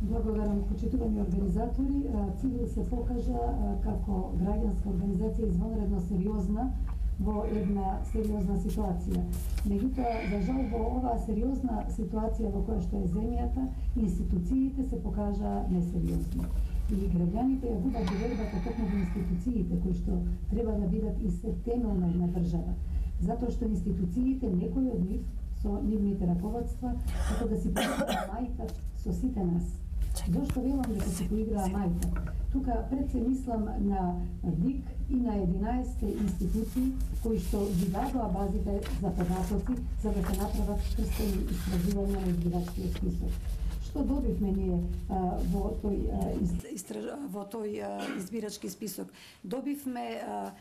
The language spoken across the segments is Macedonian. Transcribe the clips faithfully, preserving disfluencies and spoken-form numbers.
Благодарам, почитувани организатори. Цивил се покажа како граѓанска организација извонредно сериозна во една сериозна ситуација. Меѓутоа, за жал, во оваа сериозна ситуација во која што е земјата, институциите се покажа несериозни. И граѓаните ја губат довербата токму во институциите, кои што треба да бидат и се темел на една држава. Затоа што институциите, некои од нив, со нивните раководства, како да си поиграа мајка со сите нас. Зошто велам дека се поиграа мајка? Тука пред се мислам на ДИК и на единаесет институции кои што ги дадоа базите за податоци за да се направат крстени истражувања на избирачкиот список. Што добивме ние а, во тој а, истраж... во тој а, избирачки список? Добивме а,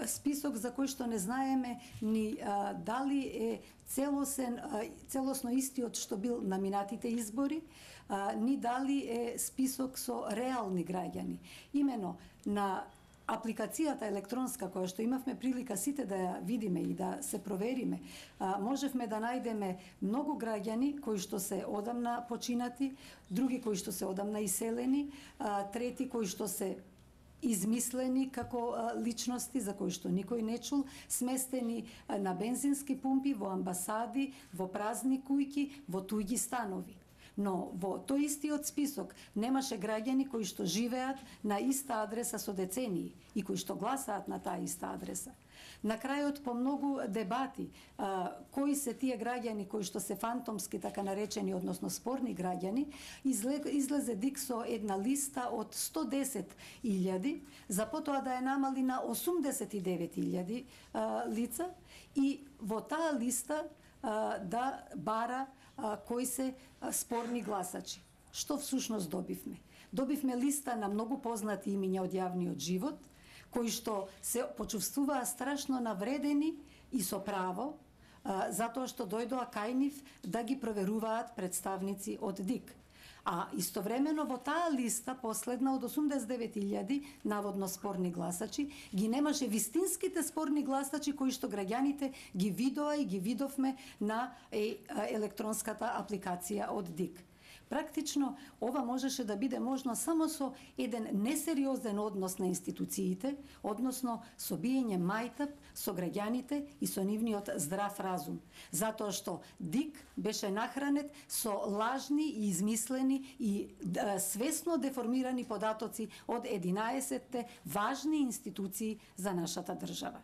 список за кој што не знаеме ни а, дали е целосен, а, целосно истиот што бил на минатите избори, а, ни дали е список со реални граѓани. Имено на апликацијата електронска која што имавме прилика сите да ја видиме и да се провериме, а, можевме да најдеме многу граѓани кои што се одамна починати, други кои што се одамна иселени, а, трети кои што се измислени како а, личности за кои што никој не чул, сместени а, на бензински пумпи, во амбасади, во празни кујки, во туѓи станови. Но во тој истиот список немаше граѓани кои што живеат на иста адреса со децении и кои што гласаат на таа иста адреса. На крајот, по многу дебати, а, кои се тие граѓани кои што се фантомски, така наречени, односно спорни граѓани, излезе ДИК со една листа од сто десет илјади, за потоа да ја намали на осумдесет и девет илјади а, лица и во таа листа а, да бара а, кои се а, спорни гласачи. Што всушност добивме? Добивме листа на многу познати имиња од јавниот живот, кои што се почувствуваа страшно навредени и со право, а, затоа што дојдоа кај нив да ги проверуваат представници од ДИК. А истовремено во таа листа, последна од осумдесет и девет илјади наводно спорни гласачи, ги немаше вистинските спорни гласачи кои што граѓаните ги видоа и ги видовме на е, електронската апликација од ДИК. Практично, ова можеше да биде можно само со еден несериозен однос на институциите, односно со биење мајтап со граѓаните и со нивниот здрав разум. Затоа што ДИК беше нахранет со лажни и измислени и да, свесно деформирани податоци од единаесетте важни институции за нашата држава.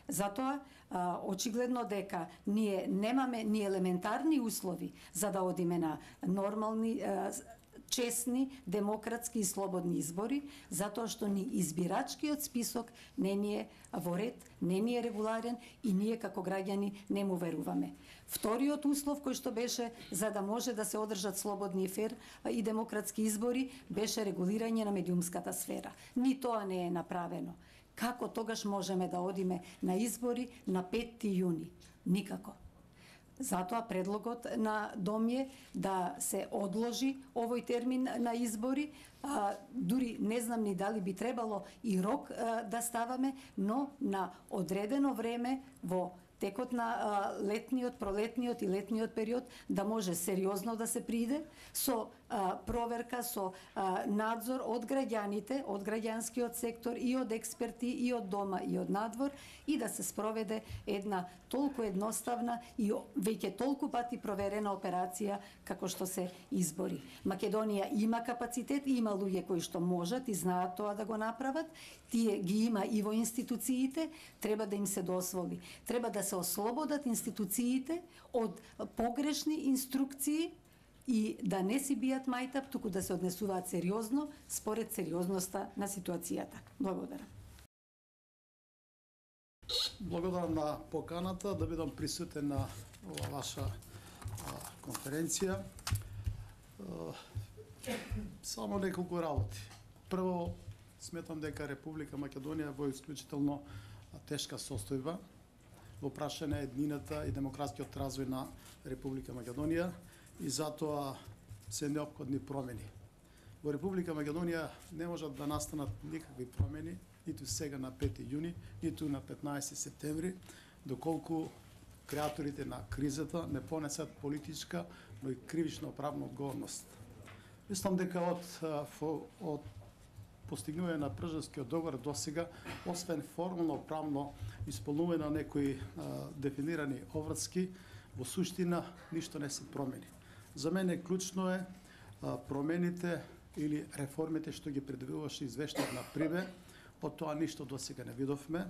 Затоа, а, очигледно дека ние немаме ни елементарни услови за да одиме на нормални, а, честни, демократски и слободни избори, затоа што ни избирачкиот список не ни е во ред, не ни е регуларен и ние како граѓани не му веруваме. Вториот услов кој што беше за да може да се одржат слободни и фер и демократски избори беше регулирање на медиумската сфера. Ни тоа не е направено. Како тогаш можеме да одиме на избори на петти јуни? Никако. Затоа предлогот на Дом е да се одложи овој термин на избори, а, дури не знам ни дали би требало и рок а, да ставаме, но на одредено време во текот на а, летниот, пролетниот и летниот период да може сериозно да се приде со а, проверка, со а, надзор од граѓаните, од граѓанскиот сектор и од експерти и од дома и од надвор и да се спроведе една толку едноставна и веќе толку пати проверена операција како што се избори. Македонија има капацитет, има луѓе кои што можат и знаат тоа да го направат, тие ги има и во институциите, треба да им се дозволи. Треба да се ослободат институциите од погрешни инструкции и да не си бијат мајтап, туку да се однесуваат сериозно според сериозноста на ситуацијата. Благодарам. Благодарам на поканата да бидам присутен на ова ваша а, конференција. А, само неколку работи. Прво, сметам дека Република Македонија во исклучително тешка состојба во прашање еднината и демократскиот развој на Република Македонија и затоа се неопходни промени. Во Република Македонија не можат да настанат никакви промени, ниту сега на пети јуни, ниту на петнаесети септември, доколку креаторите на кризата не понесат политичка, но и кривично правна одговорност. Мислам дека од, од постигнување на Пржанскиот договор до сега, освен формално правно исполнување на некои а, дефинирани обврски, во суштина ништо не се промени. За мене клучно е а, промените или реформите што ги предвидуваше извештајот на Прибе, од тоа ништо до сега не видовме.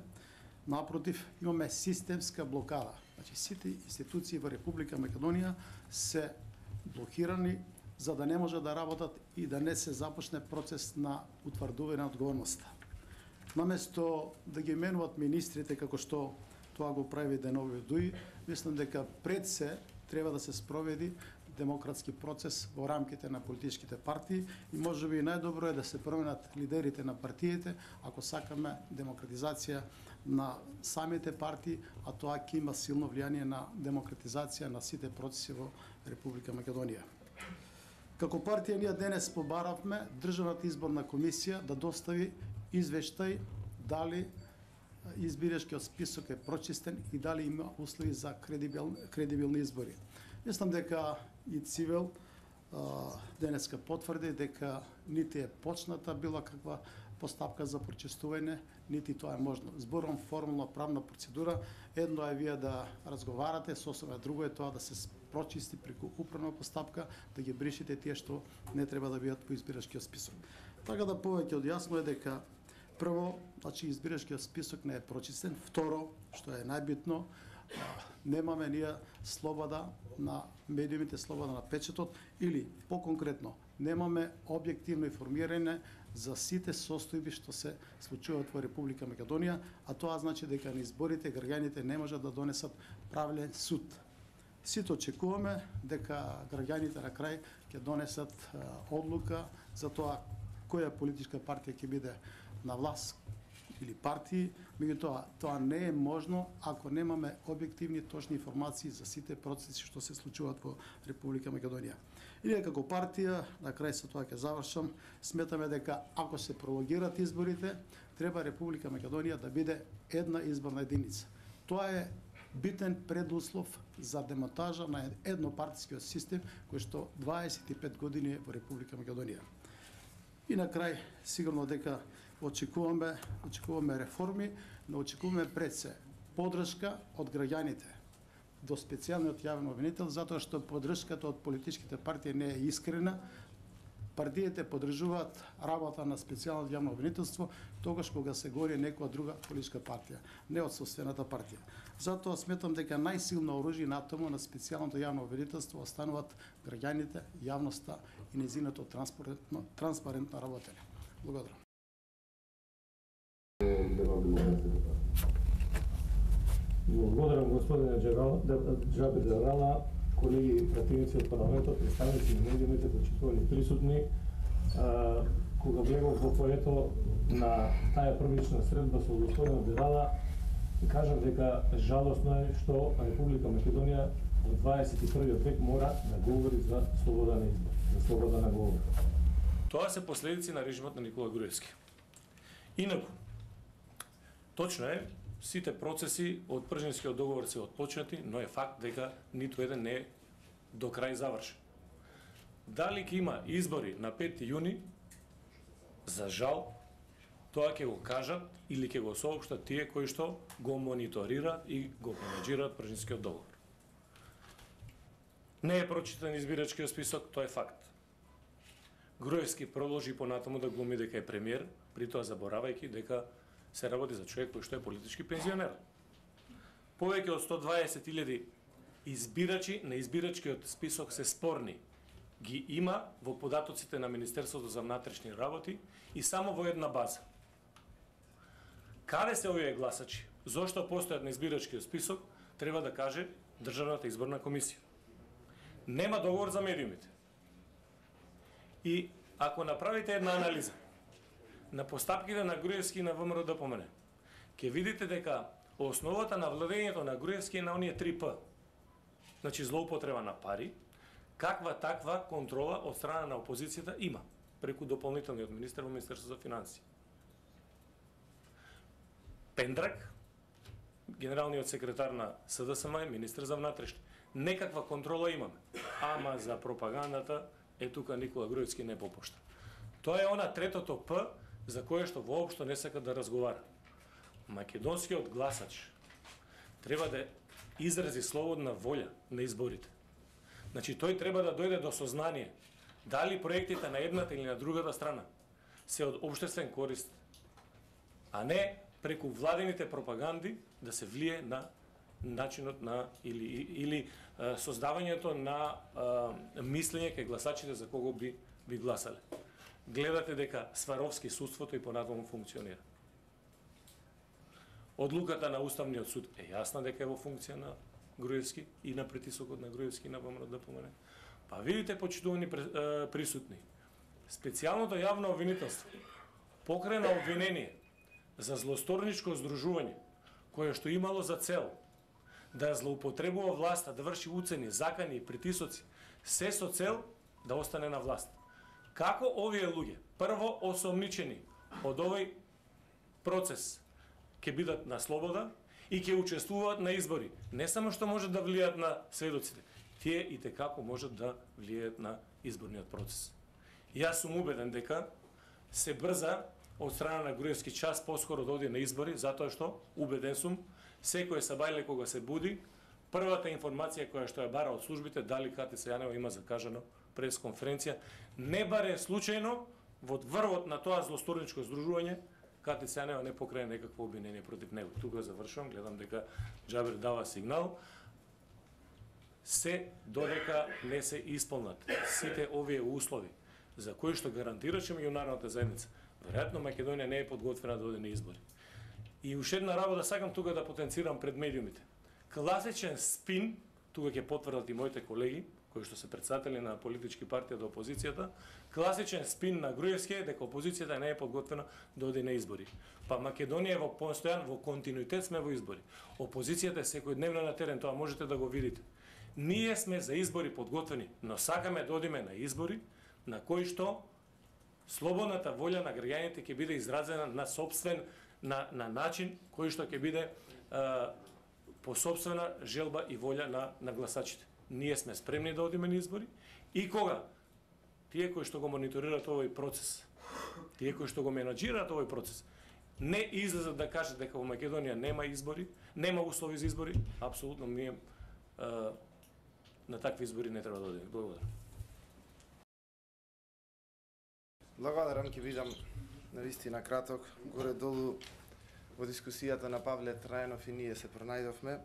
Напротив, имаме системска блокада. Значи, сите институции во Република Македонија се блокирани за да не може да работат и да не се започне процес на утврдување на одговорноста. Наместо да ги менуват министрите како што тоа го прави Денови Дуи, мислам дека пред се треба да се спроведи демократски процес во рамките на политичките партии и можеби најдобро е да се променат лидерите на партиите ако сакаме демократизација на самите партии, а тоа ќе има силно влијание на демократизација на сите процеси во Република Македонија. Како партија ние денес побаравме Државната изборна комисија да достави извештај дали избирачкиот список е прочистен и дали има услови за кредибил, кредибилни избори. Мислам дека и Цивел денеска потврди дека нити е почната била каква постапка за прочистување, нити тоа е можно. Зборувам формална правна процедура, едно е вие да разговарате, сосема друго е тоа да се прочисти преку управна постапка, да ги бришите тие што не треба да бидат по избирачкиот список. Така да повеќе од јасно е дека прво, значи избирачкиот список не е прочистен, второ, што е најбитно, немаме ние слобода на медиумите, слобода на печатот или поконкретно немаме објективно информирање за сите состојби што се случуваат во Република Македонија, а тоа значи дека на изборите граѓаните не можат да донесат правилен суд. Сите очекуваме дека граѓаните на крај ќе донесат одлука за тоа која политичка партија ќе биде на власт или партии, меѓутоа тоа не е можно ако немаме објективни точни информации за сите процеси што се случуваат во Република Македонија. И ние како партија, на крај со тоа ќе завршам, сметаме дека ако се прологират изборите, треба Република Македонија да биде една изборна единица. Тоа е битен предуслов за демонтажа на еднопартискиот систем кој што дваесет и пет години е во Република Македонија. И на крај, сигурно дека очекуваме, очекуваме реформи, но очекуваме пред се поддршка од граѓаните до специјалниот јавен обвинител, затоа што поддршката од политичките партии не е искрена. Партиите поддржуваат работа на специјалното јавно обвинителство тогаш кога се гори некоја друга политичка партија, не од собствената партија. Затоа сметам дека најсилно оружје на тому на специјалното јавно обвинителство остануваат граѓаните, јавноста и незиното транспарентно, транспарентно работење. Благодарам. Благодарам господине Џабир Џабрала, колеги пратеници од парламентот, представници на медиумите, почитувани присутни. А, кога влегов во поето на таа првична средба со господинот Дедала, кажав дека жалосно е што Република Македонија во дваесет и првиот век мора да говори за слобода на избор, за слобода на говор. Тоа се последици на режимот на Никола Груевски. Инаку, точно е, сите процеси од Пржанскиот договор се отпочнати, но е факт дека ниту еден не е до крај завршен. Дали ќе има избори на пети јуни, за жал, тоа ќе го кажат или ќе го соопштат тие кои што го мониторираат и го менеџираат Пржанскиот договор. Не е прочитан избирачкиот список, тоа е факт. Груевски продолжи понатаму да глуми дека е премиер, при тоа заборавајќи дека се работи за човек кој што е политички пензионер. Повеќе од сто дваесет илјади избирачи на избирачкиот список се спорни. Ги има во податоците на Министерството за внатрешни работи и само во една база. Каде се овие гласачи? Зошто постојат на избирачкиот список, треба да каже Државната изборна комисија. Нема договор за медиумите. И ако направите една анализа на постапките на Груевски и на ВМРО да помене, ќе видите дека основата на владењето на Груевски е на оние три П. Значи злоупотреба на пари, каква таква контрола од страна на опозицијата има преку дополнителниот министер во Министерството за финансии. Пендрак, генералниот секретар на СДСМ, министер за внатрешни. Некаква контрола имаме. Ама за пропагандата е тука Никола Груевски не попушта. Тоа е она третото П за кое што воопшто не сака да разговара. Македонскиот гласач треба да изрази слободна волја на изборите. Значи тој треба да дојде до сознание дали проектите на едната или на другата страна се од општествен корист, а не преку владините пропаганди да се влие на начинот на или или а, создавањето на а, мислење кај гласачите за кого би би гласале. Гледате дека Сваровски судството и понатаму функционира. Одлуката на Уставниот суд е јасна дека е во функција на Груевски и на притисокот на Груевски на ВМРО да помине. Па видите, почитувани присутни, специјалното јавно обвинителство покрена обвинение за злосторничко здружување кое што имало за цел да злоупотребува власта, да врши уцени, закани и притисоци, се со цел да остане на власт. Како овие луѓе, прво осомничени од овој процес, ќе бидат на слобода и ќе учествуваат на избори, не само што можат да влијат на сведоците, тие и текако можат да влијаат на изборниот процес. Јас сум убеден дека се брза од страна на Груевски час поскоро да оди на избори, затоа што, убеден сум, секој сабајле кога се буди, првата информација која што ја бара од службите, дали Катица Јанева има закажано пресконференција, не баре случајно во врвот на тоа злосторничко здружување, Катица Јанева не покрene некакво обвинение против него. Тука завршувам, гледам дека Џабер дава сигнал. Се додека не се исполнат сите овие услови за кои што гарантираше меѓународната заедница, веројатно Македонија не е подготвена да оди на избори. И уште една работа сакам тука да потенцирам пред медиумите. Класичен спин, тука ќе потврдат и моите колеги, кои што се председатели на политички партија до опозицијата, класичен спин на Груевски е дека опозицијата не е подготвена да оди на избори. Па Македонија е во постојан, во континуитет сме во избори. Опозицијата е секојдневно на терен, тоа можете да го видите. Ние сме за избори подготвени, но сакаме да одиме на избори на кои што слободната волја на граѓаните ќе биде изразена на собствен на на начин кој што ќе биде а, по собствена желба и волја на на гласачите. Ние сме спремни да одиме на избори и кога тие кои што го мониторираат овој процес, тие кои што го менаџираат овој процес, не излезат да кажат дека во Македонија нема избори, нема услови за избори, апсолутно ние а, на такви избори не треба да одиме. Благодарам. Благодарам, ќе бидам навистина краток. Горе-долу во дискусијата на Павле Трајнов и ние се пронајдовме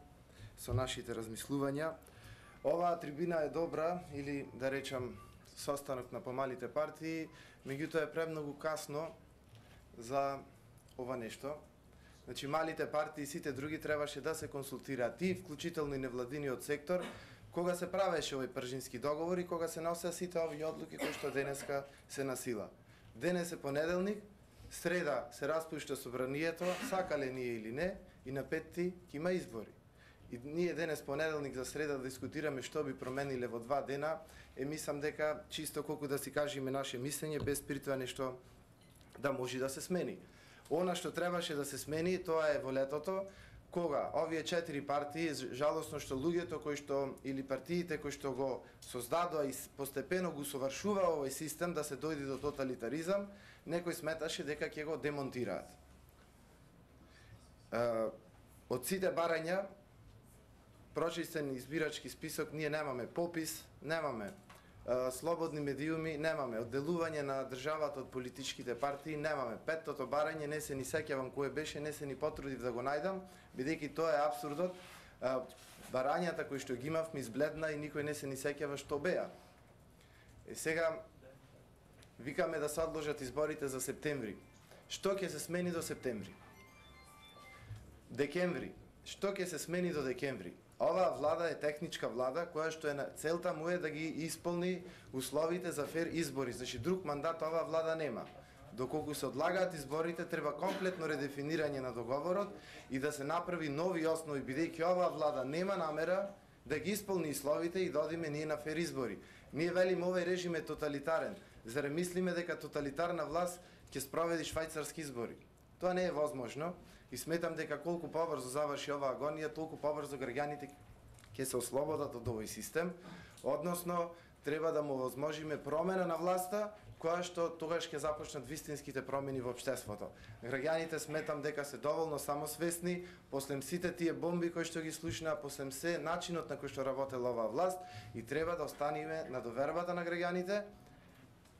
со нашите размислувања. Оваа трибина е добра, или да речам состанок на помалите партии, меѓутоа е премногу касно за ова нешто. Значи, малите партии и сите други требаше да се консултираат, и вклучително и невладиниот сектор, кога се правеше овој пржински договор и кога се носеа сите овие одлуки кои што денеска се на сила. Денес е понеделник, среда се распушта собранието, сакале ние или не, и на петти ќе има избори. И ние денес понеделник за среда да дискутираме што би промениле во два дена, е мислам дека чисто колку да си кажеме наше мислење, без при тоа нешто да може да се смени. Она што требаше да се смени, тоа е во летото, кога овие четири партии, жалосно што луѓето кои што или партиите кои што го создадоа и постепено го совршува овој систем да се дојде до тоталитаризам, некој сметаше дека ќе го демонтираат. Од сите барања, прочистен избирачки список, ние немаме попис, немаме слободни медиуми, немаме одделување на државата од политичките партии, немаме. Петтото барање не се ни сеќавам кое беше, не се ни потрудив да го најдам, бидејќи тоа е апсурдот. Барањата кои што ги имавме избледна и никој не се ни сеќава што беа. Е сега викаме да се одложат изборите за септември. Што ќе се смени до септември? Декември. Што ќе се смени до декември? Оваа влада е техничка влада која што е целта му е да ги исполни условите за фер избори. Значи друг мандат оваа влада нема. Доколку се одлагаат изборите, треба комплетно редефинирање на договорот и да се направи нови основи, бидејќи оваа влада нема намера да ги исполни условите и да одиме ние на фер избори. Ние велиме овој режим е тоталитарен. Заре мислиме дека тоталитарна власт ќе спроведи швајцарски избори? Тоа не е возможно. И сметам дека колку побрзо заврши оваа агонија, толку побрзо граѓаните ќе се ослободат од овој систем, односно треба да му возможиме промена на власта, која што тогаш ќе започнат вистинските промени во општеството. Граѓаните сметам дека се доволно самосвесни, после сите тие бомби кои што ги слушнаа, после се начинот на кој што работела оваа власт, и треба да останеме на довербата на граѓаните,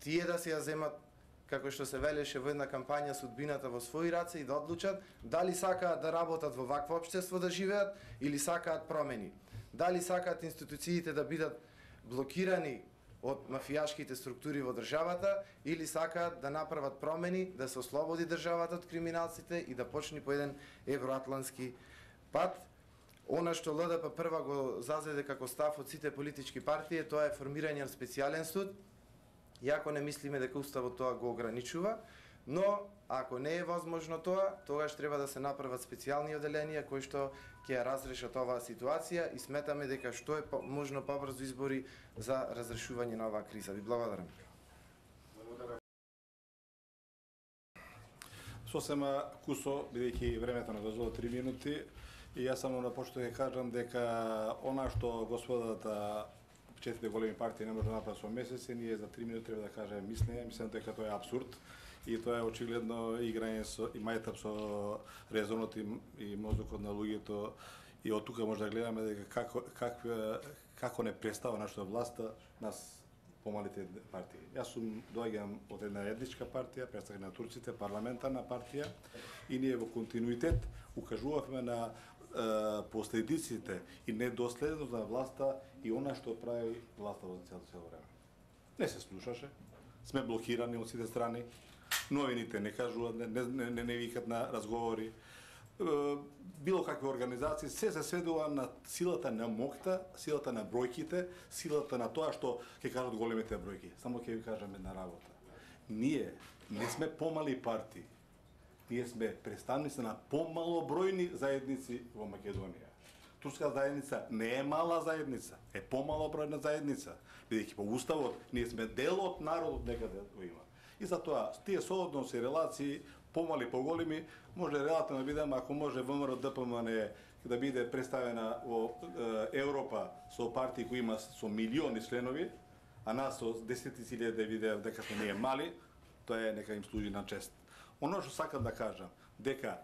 тие да си ја земат, како што се велеше во една кампања, судбината во своји раце и да одлучат дали сакаат да работат во вакво општество да живеат или сакаат промени. Дали сакаат институциите да бидат блокирани од мафијашките структури во државата или сакаат да направат промени, да се ослободи државата од криминалците и да почне по еден евроатлански пат. Она што Л Д П прва го зазеде како став од сите политички партии, тоа е формирање на специјален суд. Иако не мислиме дека уставот тоа го ограничува, но ако не е возможно тоа, тогаш треба да се направат специјални оделенија кои што ќе ја разрешат оваа ситуација и сметаме дека што е по, можно побрзо избори за разрешување на оваа криза. Ви благодарам. Сосема кусо, бидејќи времето не дозволи три минути, и јас само на почеток ќе кажам дека она што господата четирите големи партии не може да направат со месеци, ние за три минути треба да кажеме мислење, мислам дека тоа е апсурд и тоа е очигледно играње со и мајтап со резонот и, и мозокот на луѓето, и од тука може да гледаме дека како како како не представа нашата власта нас помалите партии. Јас сум доаѓам од една етничка партија, представник на турците, парламентарна партија, и ние во континуитет укажувавме на последиците и недоследност на власта и она што прави власта во цело цело време. Не се слушаше, сме блокирани од сите страни, новините не кажуваат, не, не, не, не викат на разговори, било какви организации, се се сведува на силата на мокта, силата на бројките, силата на тоа што ќе кажат големите бројки. Само ќе ви кажам една работа. Ние не сме помали партии. Ние сме представници на помалобројни заедници во Македонија. Турска заедница не е мала заедница, е помалобројна заедница, бидејќи по уставот ние сме дел од народот некаде го има. И затоа тие соодноси, релации, помали, поголеми, може релативно да бидеме, ако може ВМРО Д П М Н да биде представена во е, Европа со партии кои има со милиони членови, а нас со десетици илјади да видеа дека сме ние мали, тоа е нека им служи на чест. Оно што сакам да кажам, дека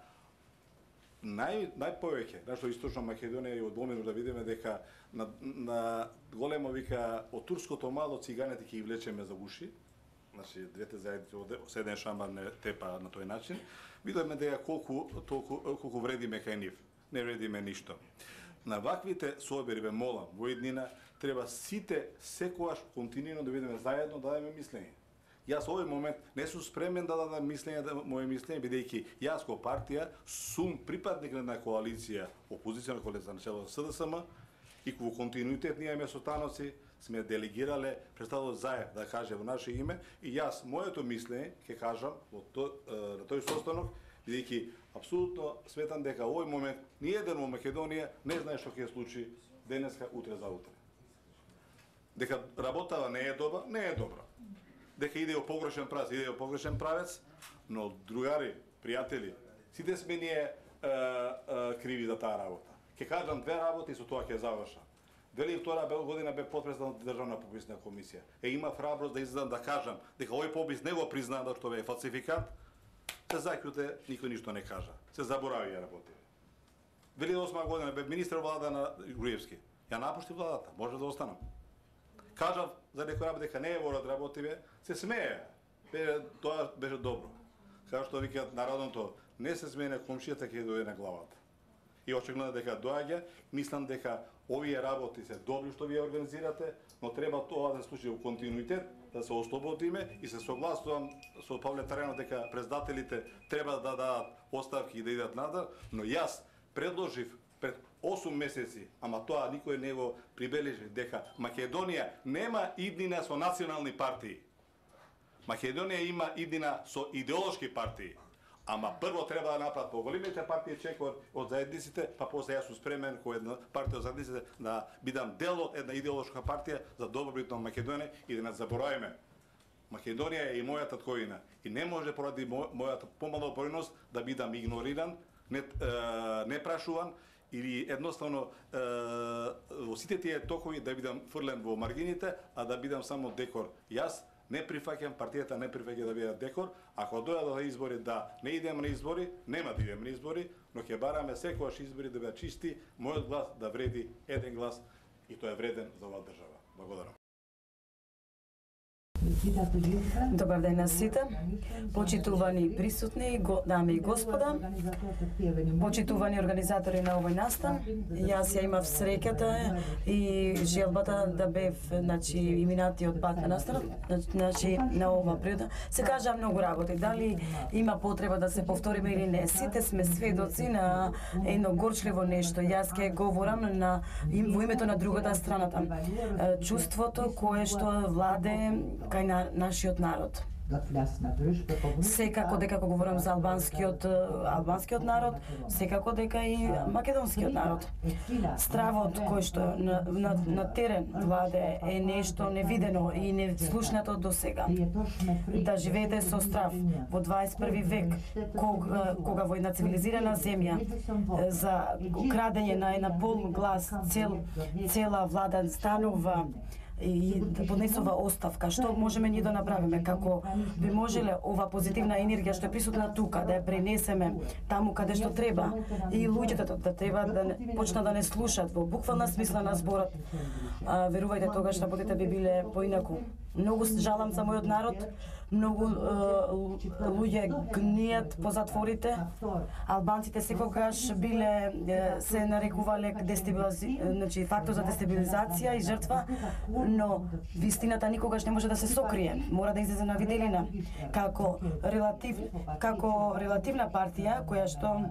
нај најповеќе нашто источна Македонија и од Бомину да видиме дека на, на големо вика од турското мало циганите ќе ги влечеме за уши. Значи двете заедници од седен шамар не тепа на тој начин. Видиме дека колку толку колку вредиме кај нив. Не вредиме ништо. На ваквите собери ве молам, во иднина треба сите секогаш континуирано да видиме заедно да дадеме мислење. Јас овој момент не сум спремен да дадам мислење, да моје мислење, бидејќи јас како партија сум припадник на коалиција, опозицијна коалиција на чело С Д С М, и во континуитет ние имаме состаноци, сме делегирале представот Заев да каже во наше име, и јас моето мислење ќе кажам во то, на тој состанок, бидејќи апсолутно сметам дека овој момент ни еден во Македонија не знае што ќе се случи денеска, утре, за утре. Дека работава не е добра, не е добра. Дека иде во погрешен правец, иде во погрешен правец, но другари, пријатели, сите сме ние е, е, криви за таа работа. Ќе кажам две работи и со тоа ќе завршам. две илјади и втора година бе потпредседател на Државна пописна комисија. Е има храброст да излезам да кажам дека овој попис не го признаа да што бе фалсификат. Се заќуте, никој ништо не кажа. Се заборави ја работи. две илјади и осма година бе министер влада на Груевски. Ја напушти владата, може да останам. Кажав за некој работа дека не е ворот работиве, се смее. Бе, тоа беше добро. Како што викаат народното, не се смее на комшијата ќе дојде на главата. И очигледно дека доаѓа, мислам дека овие работи се добри што вие организирате, но треба тоа да се случи во континуитет, да се ослободиме, и се согласувам со Павле Таренов дека председателите треба да дадат оставки и да идат надале, но јас предложив пред осум месеци, ама тоа никој не го прибележи, дека Македонија нема иднина со национални партии. Македонија има иднина со идеолошки партии. Ама прво треба да направат поголемите партии чек од заедниците, па после јас сум спремен кој една партија од заедниците да бидам дел од една идеолошка партија за добробит на Македонија и да не забораваме. Македонија е и мојата татковина и не може поради мојата помалобројност да бидам игнориран, не, е, не прашуван или едноставно е, во сите тие токови да бидам фрлен во маргините, а да бидам само декор. Јас не прифаќам, партијата не прифаќа да биде декор. Ако дојдат на избори да не идем на избори, нема да идем на избори, но ќе бараме секогаш избори да бидат чисти, мојот глас да вреди еден глас и тој е вреден за оваа држава. Благодарам. Добар ден на сите, почитувани присутни, го, дами и господа, почитувани организатори на овој настан. Јас ја имав среќата и желбата да бев, значи, иминатиот пат на настанот, значи, на ова природа. Се кажа многу работи, дали има потреба да се повториме или не. Сите сме сведоци на едно горчливо нешто. Јас ќе говорам на, во името на другата страната. Чувството кое што владе кај на нашиот народ. Секако дека кога говорам за албанскиот албанскиот народ, секако дека и македонскиот народ. Стравот кој што на, на, на терен владе е нешто невидено и неслушнато до сега. Да живеете со страв во дваесет и први век, кога, кога во една цивилизирана земја за крадење на една пол глас цел, цела влада станува и да поднесува оставка. Што можеме ние да направиме? Како би можеле ова позитивна енергија што е присутна тука да ја пренесеме таму каде што треба и луѓето да треба да не, почнат да не слушат во буквална смисла на зборот. А, верувајте, тогаш работите би биле поинаку. Многу жалам за мојот народ, многу е, луѓе гнијат по затворите. Албанците секогаш биле е, се нарекувале дестабилизи... значи фактор за дестабилизација и жртва, но вистината никогаш не може да се сокрие. Мора да излезе на виделина како релатив како релативна партија која што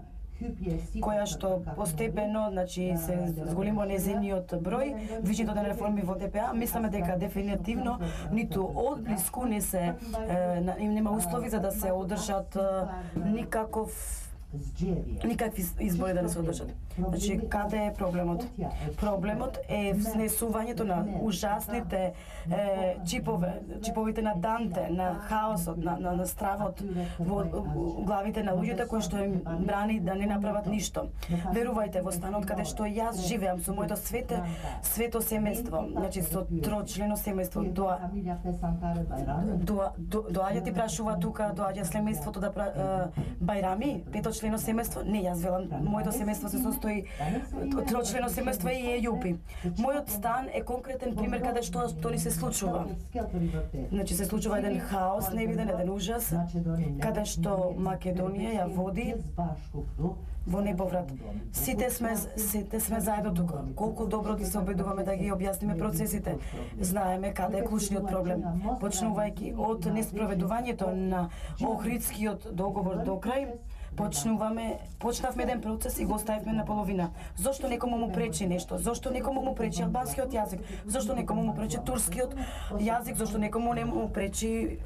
која што постепено, значи, се зголемо незиниот број, вичето на реформи во Д П А, мислиме дека дефинитивно ниту одблиску не се е, нема услови за да се одржат е, никаков никакви избори да не се одржат. Значи, каде е проблемот? Проблемот е внесувањето на ужасните е, чипове, чиповите на Данте, на хаосот, на, на, на стравот во главите на луѓето кои што им брани да не направат ништо. Верувајте, во станот каде што јас живеам со моето свете, свето семејство, значи со трочлено семејство, доа, доа, до, доаѓа ти прашува тука, доаѓа семејството да пра, е, бајрами, пето члено семејство, не, јас велам, моето семејство се состои трочлено семејство и Ејупи. Мојот стан е конкретен пример каде што што ни се случува. Значи се случува еден хаос, невиден, еден ужас, каде што Македонија ја води во неповрат. Сите сме сите сме заедно тука. Колку добро ги се обидуваме да ги објасниме процесите. Знаеме каде е клучниот проблем. Почнувајќи од неспроведувањето на Охридскиот договор до крај, почнуваме, почнавме еден процес и го оставивме на половина. Зошто некому му пречи нешто? Зошто некому му пречи албанскиот јазик? Зошто некому му пречи турскиот јазик? Зошто некому не му пречи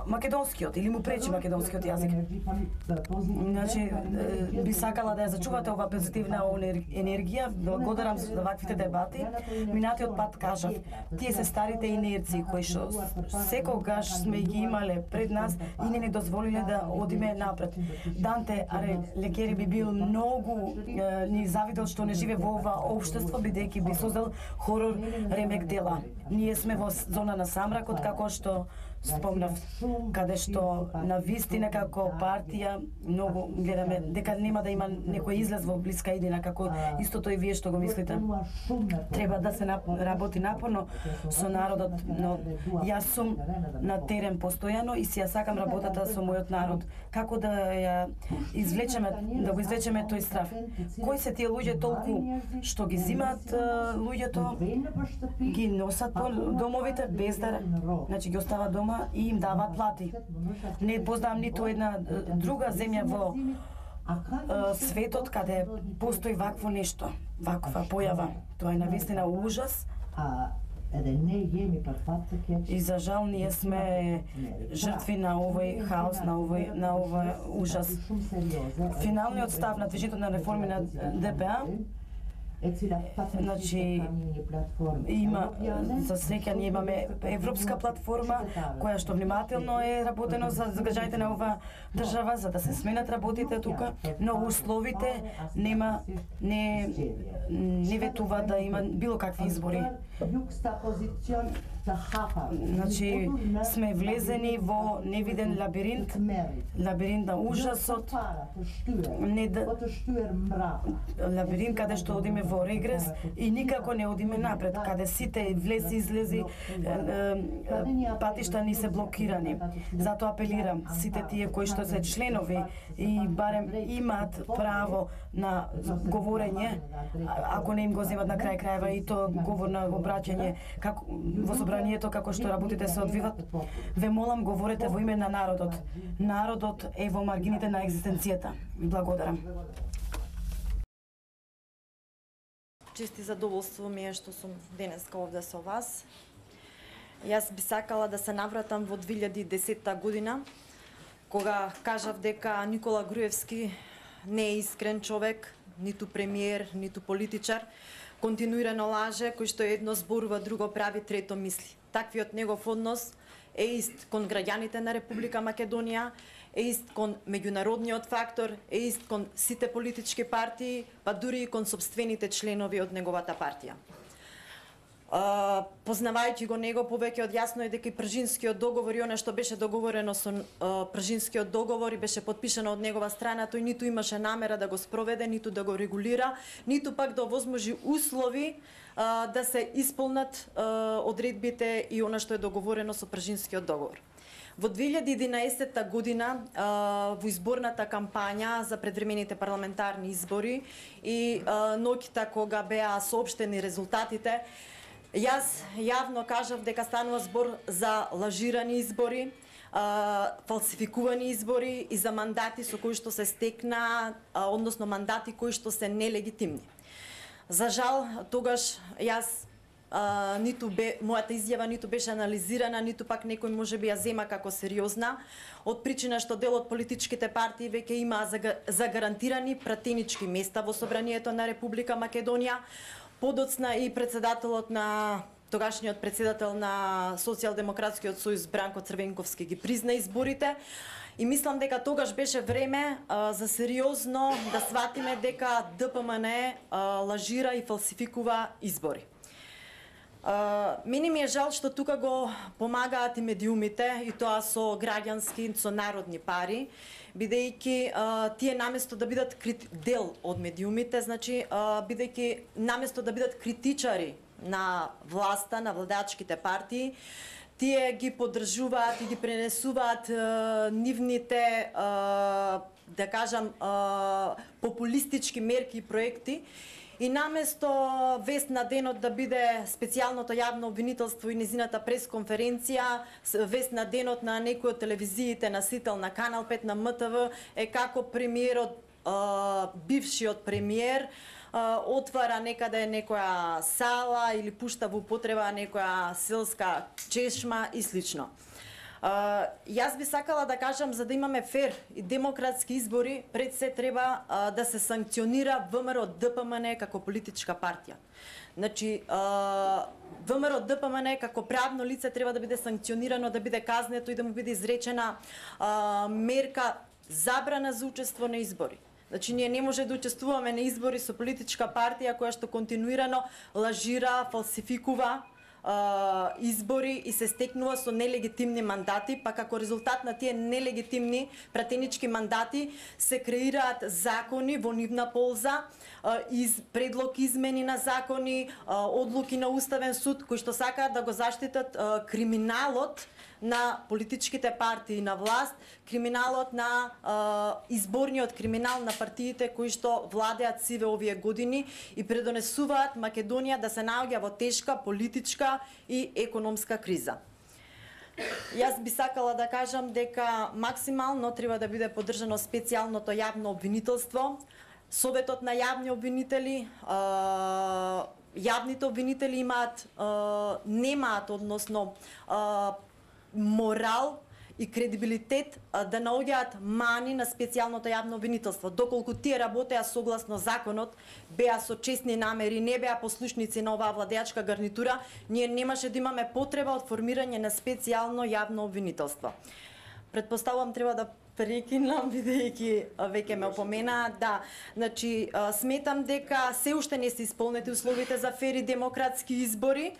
македонскиот или му пречи македонскиот јазик? Значи, би сакала да ја зачувате ова позитивна енергија. Благодарам за ваквите дебати. Минатиот пат кажав, тие се старите инерции кои што секогаш сме ги имале пред нас и не ни дозволиле да одиме напред. Данте Алигјери би бил многу е, ни завидел што не живе во ова општество, бидејќи би создал хорор ремек дела. Ние сме во зона на самракот, како што спомнав, каде што на вистина како партија многу гледаме дека нема да има некој излез во блиска иднина, како истото и вие што го мислите. Треба да се работи напорно со народот, но јас сум на терен постојано и си ја сакам работата со мојот народ. Како да ја извлечеме, да го извлечеме тој страв? Кои се тие луѓе толку што ги зимаат луѓето, ги носат по домовите без да, значи ги остават дома и им дават плати. Не познавам ниту една друга земја во е, светот каде постои вакво нешто, ваква појава. Тоа е навистина ужас. И за жал ние сме жртви на овој хаос, на овој на овој ужас. Финалниот став на движењето на реформи на Д П А Значи, има, за среќа ние имаме европска платформа која што внимателно е работено за, за граѓаните на ова држава за да се сменат работите тука, но условите нема не не ветува да има било какви избори. Значи, сме влезени во невиден лабиринт, лабиринт на ужасот, не да, лабиринт каде што одиме во регрес и никако не одиме напред, каде сите влези излези патишта ни се блокирани. Затоа апелирам сите тие кои што се членови и барем имаат право на говорење, ако не им го земат на крај крајва и то говор на обраќање како во собранието како што работите се одвиват, ве молам говорете во име на народот. Народот е во маргините на екзистенцијата. Ви благодарам. Чести задоволство ми е што сум денеска овде со вас. Јас би сакала да се навратам во две илјади и десета година, кога кажав дека Никола Груевски не е искрен човек, ниту премиер, ниту политичар, континуирано лаже, кој што едно зборува, друго прави, трето мисли. Таквиот негов однос е ист кон граѓаните на Република Македонија, е ист кон меѓународниот фактор, е ист кон сите политички партии, па дури и кон собствените членови од неговата партија. Uh, познавајќи го него повеќе од јасно е дека и Пржинскиот договор и она што беше договорено со uh, Пржинскиот договор и беше подпишано од негова страна, тој ниту имаше намера да го спроведе, ниту да го регулира, ниту пак да овозможи услови uh, да се исполнат uh, одредбите и она што е договорено со Пржинскиот договор. Во две илјади и единаесета година uh, во изборната кампања за предвремените парламентарни избори и uh, ноќта кога беа соопштени резултатите, јас јавно кажав дека станува збор за лажирани избори, а, фалсификувани избори и за мандати со кои што се стекна, а, односно мандати кои што се нелегитимни. За жал, тогаш јас а, ниту бе, мојата изјава ниту беше анализирана, ниту пак некој можеби ја зема како сериозна, од причина што дел од политичките партии веќе имаа загарантирани пратенички места во собранието на Република Македонија. Подоцна и председателот на тогашниот председател на Социјалдемократскиот сојуз Бранко Црвенковски ги призна изборите и мислам дека тогаш беше време а, за сериозно да сватиме дека Д П М Н а, лажира и фалсификува избори. Uh, Мене ми е жал што тука го помагаат и медиумите, и тоа со граѓански, со народни пари, бидејќи uh, тие наместо да бидат крит... дел од медиумите, значи uh, бидејќи наместо да бидат критичари на власта, на владачките партии, тие ги поддржуваат и ги пренесуваат uh, нивните, uh, да кажам, uh, популистички мерки и проекти. И наместо вест на денот да биде специјалното јавно обвинителство и незината пресконференција, вест на денот на некој од телевизиите на Сител, на Канал пет, на М Т В, е како премиерот, бившиот премиер, отвара некаде некоја сала или пушта во употреба некоја селска чешма и слично. Uh, јас би сакала да кажам, за да имаме фер и демократски избори, пред се треба uh, да се санкционира В М Р Д П М Н како политичка партија. Значи, uh, В М Р Д П М Н како правно лице треба да биде санкционирано, да биде казнето и да му биде изречена uh, мерка забрана за учество на избори. Значи, ние не може да учествуваме на избори со политичка партија која што континуирано лажира, фалсификува Uh, избори и се стекнува со нелегитимни мандати, па како резултат на тие нелегитимни пратенички мандати се креираат закони во нивна полза, uh, из, предлог измени на закони, uh, одлуки на Уставен суд, кои што сакаат да го заштитат uh, криминалот на политичките партии на власт, криминалот на е, изборниот криминал на партиите кои што владеат сиве овие години и предонесуваат Македонија да се наоѓа во тешка политичка и економска криза. Јас би сакала да кажам дека максимално треба да биде поддржано специјалното јавно обвинителство, Советот на јавни обвинители, е, јавните обвинители имаат, е, немаат, односно, е, морал и кредибилитет да наоѓаат мани на специјалното јавно обвинителство. Доколку тие работеа согласно законот, беа со честни намери, не беа послушници на оваа владеачка гарнитура, ние немаше да имаме потреба од формирање на специјално јавно обвинителство. Предпоставувам треба да прекинам, бидејќи веќе ме опомена. Да, значи, сметам дека се уште не се исполнети условите за фери демократски избори,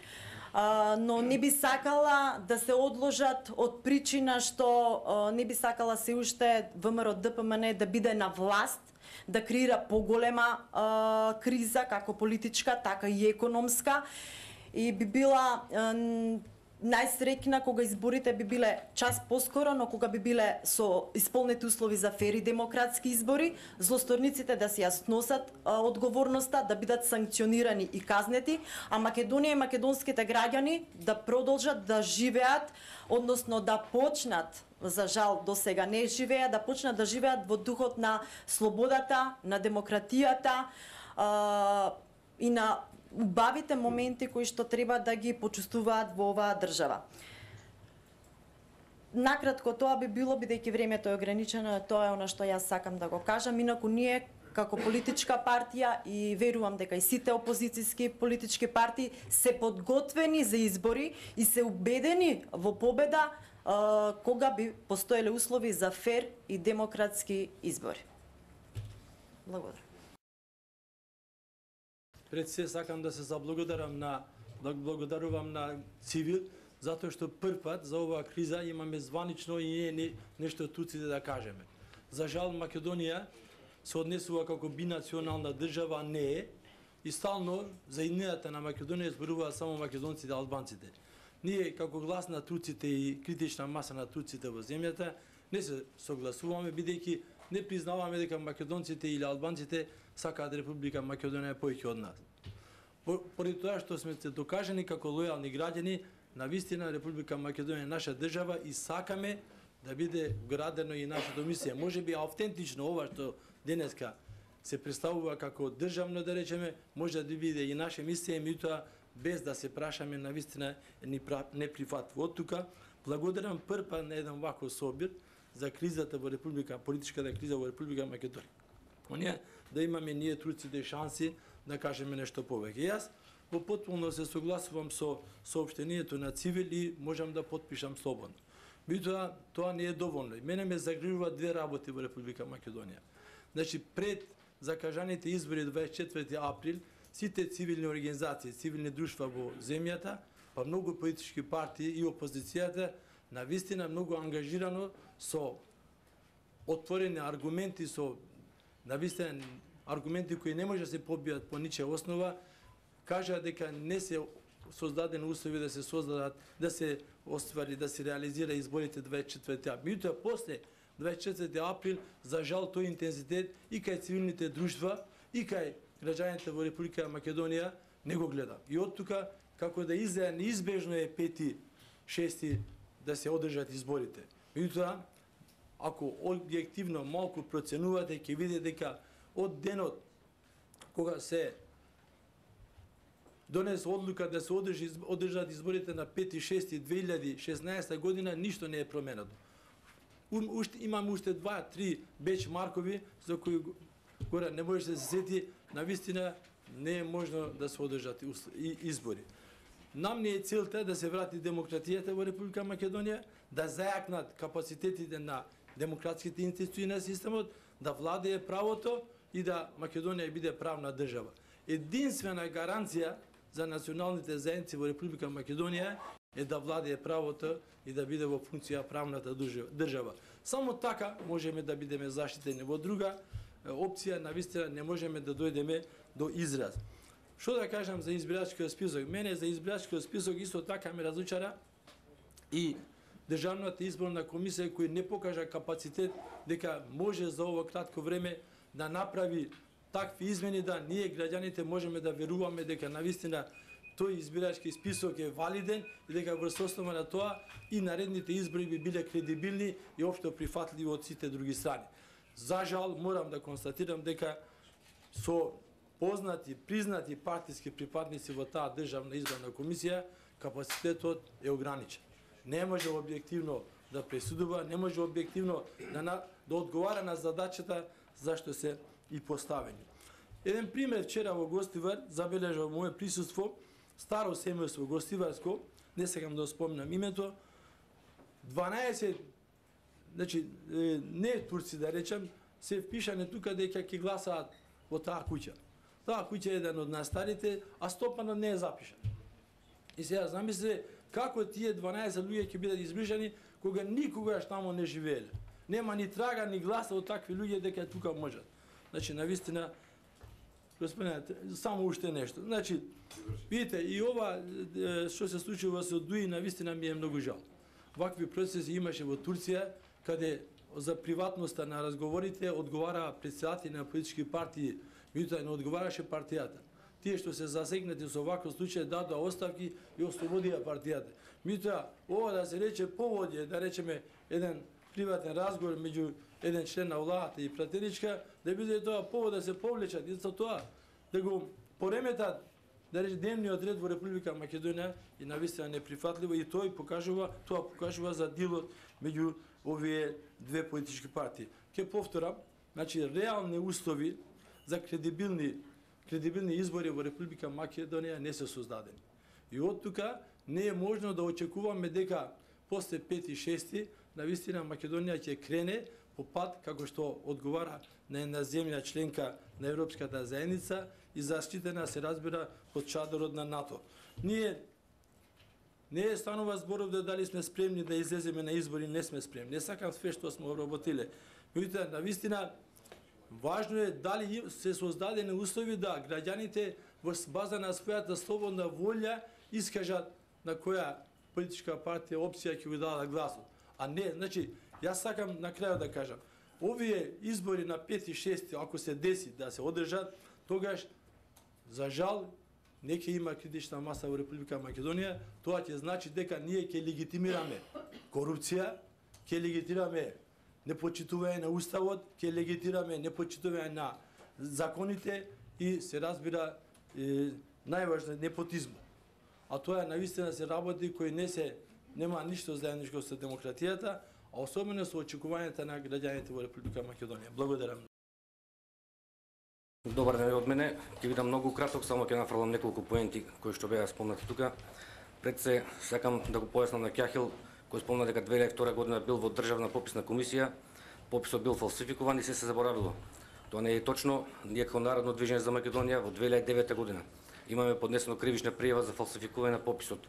но не би сакала да се одложат од причина што не би сакала се уште ВМРО Д П М Н да биде на власт, да креира поголема криза, како политичка, така и економска, и би била најсреќна кога изборите би биле час поскоро, но кога би биле со исполнети услови за фери демократски избори, злосторниците да си ја сносат а, одговорноста, да бидат санкционирани и казнети, а Македонија и македонските граѓани да продолжат да живеат, односно да почнат, за жал до сега не живеат, да почнат да живеат во духот на слободата, на демократијата а, и на убавите моменти кои што треба да ги почувствуваат во оваа држава. Накратко тоа би било, бидејќи времето е ограничено, тоа е она што јас сакам да го кажам. Инаку ние како политичка партија и верувам дека и сите опозицијски политички партии се подготвени за избори и се убедени во победа а, кога би постоеле услови за фер и демократски избори. Благодарам. Пред се сакам да се заблагодарам на да благодарувам на Цивил затоа што прв пат за оваа криза имаме званично и не, не нешто туците да кажеме. За жал Македонија се однесува како бинационална држава, не е, и стално за идејата на Македонија зборуваат само македонците и албанците. Ние како глас на турците и критична маса на турците во земјата не се согласуваме, бидејќи не признаваме дека македонците или албанците сакаат Република Македонија повеќе од нас. Поради тоа што сме се докажани како лојални граѓани, навистина Република Македонија е наша држава и сакаме да биде вградено и нашата мисија. Може би автентично ова што денеска се представува како државно, да речеме, може да биде и наша мисија, меѓутоа без да се прашаме навистина не прифатливо. Од тука благодарам прв пат на еден ваков собир за кризата во Република, политичката криза во Република Македонија. Оние да имаме ние турците шанси да кажеме нешто повеќе. Јас во потполно се согласувам со соопштението на Цивил и можам да потпишам слободно. Меѓутоа тоа не е доволно. Мене ме загрижуваат две работи во Република Македонија. Значи пред закажаните избори дваесет и четврти април сите цивилни организации, цивилни друштва во земјата, па многу политички партии и опозицијата навистина многу ангажирано со отворени аргументи, со навистина аргументи кои не може да се побијат по ничија основа, кажа дека не се создадени услови да се создадат, да се оствари, да се реализира изборите дваесет и четврти април. Меѓутоа после дваесет и четврти април, за жал тој интензитет и кај цивилните друштва и кај граѓаните во Република Македонија не го гледа. И од тука како да изгледа неизбежно е пети, шести да се одржат изборите. Меѓутоа, ако објективно малку проценувате, ќе видите дека од денот кога се донесе одлука да се одржи, одржат изборите на пети шести две илјади и шеснаесета година, ништо не е променето. Уште, имаме уште два три бечмаркови за кои горе не може да се сети, навистина не е можно да се одржат избори. Нам не е целта да се врати демократијата во Република Македонија, да зајакнат капацитетите на демократските институции на системот, да владее правото и да Македонија биде правна држава. Единствена гаранција за националните заедници во Република Македонија е да владее правото и да биде во функција правната држава. Само така можеме да бидеме заштитени. Во друга опција навистина не можеме да дојдеме до израз. Што да кажам за избирачкиот список? Мене за избирачкиот список исто така ме разучара и Државната изборна комисија која не покажа капацитет дека може за ово кратко време да направи такви измени да ние граѓаните можеме да веруваме дека навистина тој избирачки список е валиден и дека врз основа на тоа и наредните избори би биле кредибилни и општо прифатливи од сите други страни. За жал морам да констатирам дека со познати, признати партиски припадници во таа Државна изборна комисија капацитетот е ограничен. Не може објективно да пресудува, не може објективно да, на, да одговара на задачата зашто се и поставени. Еден пример вчера во Гостивар забележав мое присуство, старо семејство Гостиварско, не сакам да спомнам името, дванаесет, значи не турци да речем, се впишане тука дека ќе гласаат во таа куќа. Таа куќа е еден од најстарите, а Стопанов не е запишан. И сега замислите како тие дванаесет луѓе ќе бидат избришани кога никогаш таму не живееле. Нема ни трага ни гласа од такви луѓе дека тука можат. Значи навистина господине, само уште нешто. Значи, видите, и ова што се случува со Дуи навистина ми е многу жал. Вакви процеси имаше во Турција, каде за приватноста на разговорите одговара председатели на политички партии, меѓутоа не одговараше партијата. Тие што се засегнати со ваков случај дадоа оставки и ослободија партијата. Меѓутоа, ова да се рече поводи, да речеме еден приватен разговор меѓу еден член на владата и пратеничка, да биде тоа повод да се повлечат и за тоа да го пореметат, да рече дневниот ред во Република Македонија и навистина неприфатливо, и тој покажува, тоа покажува за дилот меѓу овие две политички партии. Ке повторам, значи реални услови за кредибилни кредибилни избори во Република Македонија не се создадени. И од тука не е можно да очекуваме дека после пети и шести навистина Македонија ќе крене по пат како што одговара на една земја членка на Европската заедница и заштитена се разбира под чадорот на НАТО. Ние не е станува зборов да дали сме спремни да излеземе на избори, не сме спремни. Не сакам све што сме обработиле. Меѓутоа, навистина важно е дали се создадени услови да граѓаните во база на својата слободна волја искажат на која политичка партија опција ќе го дадат гласот. А не, значи, јас сакам на крајот да кажам, овие избори на пети и шести, ако се деси да се одржат, тогаш, за жал, не ќе има критична маса во Република Македонија, тоа ќе значи дека ние ќе легитимираме корупција, ќе легитимираме непочитување на уставот, ќе легитимираме непочитување на законите и се разбира е, најважно непотизмот. А тоа навистина се работи кои не се нема ништо заедничко со демократијата, а особено со очекувањата на граѓаните во Република Македонија. Благодарам. Добар ден од мене. Ќе бидам многу краток, само ќе нафрлам неколку поенти кои што беа спомнати тука. Пред се сакам да го појаснам на Кјахил, кој спомна дека две илјади и втора година бил во државна пописна комисија, пописот бил фалсификуван и се се заборавило. Тоа не е точно. Ние како Народно движење за Македонија во две илјади и девета година имаме поднесено кривична пријава за фалсификување на пописот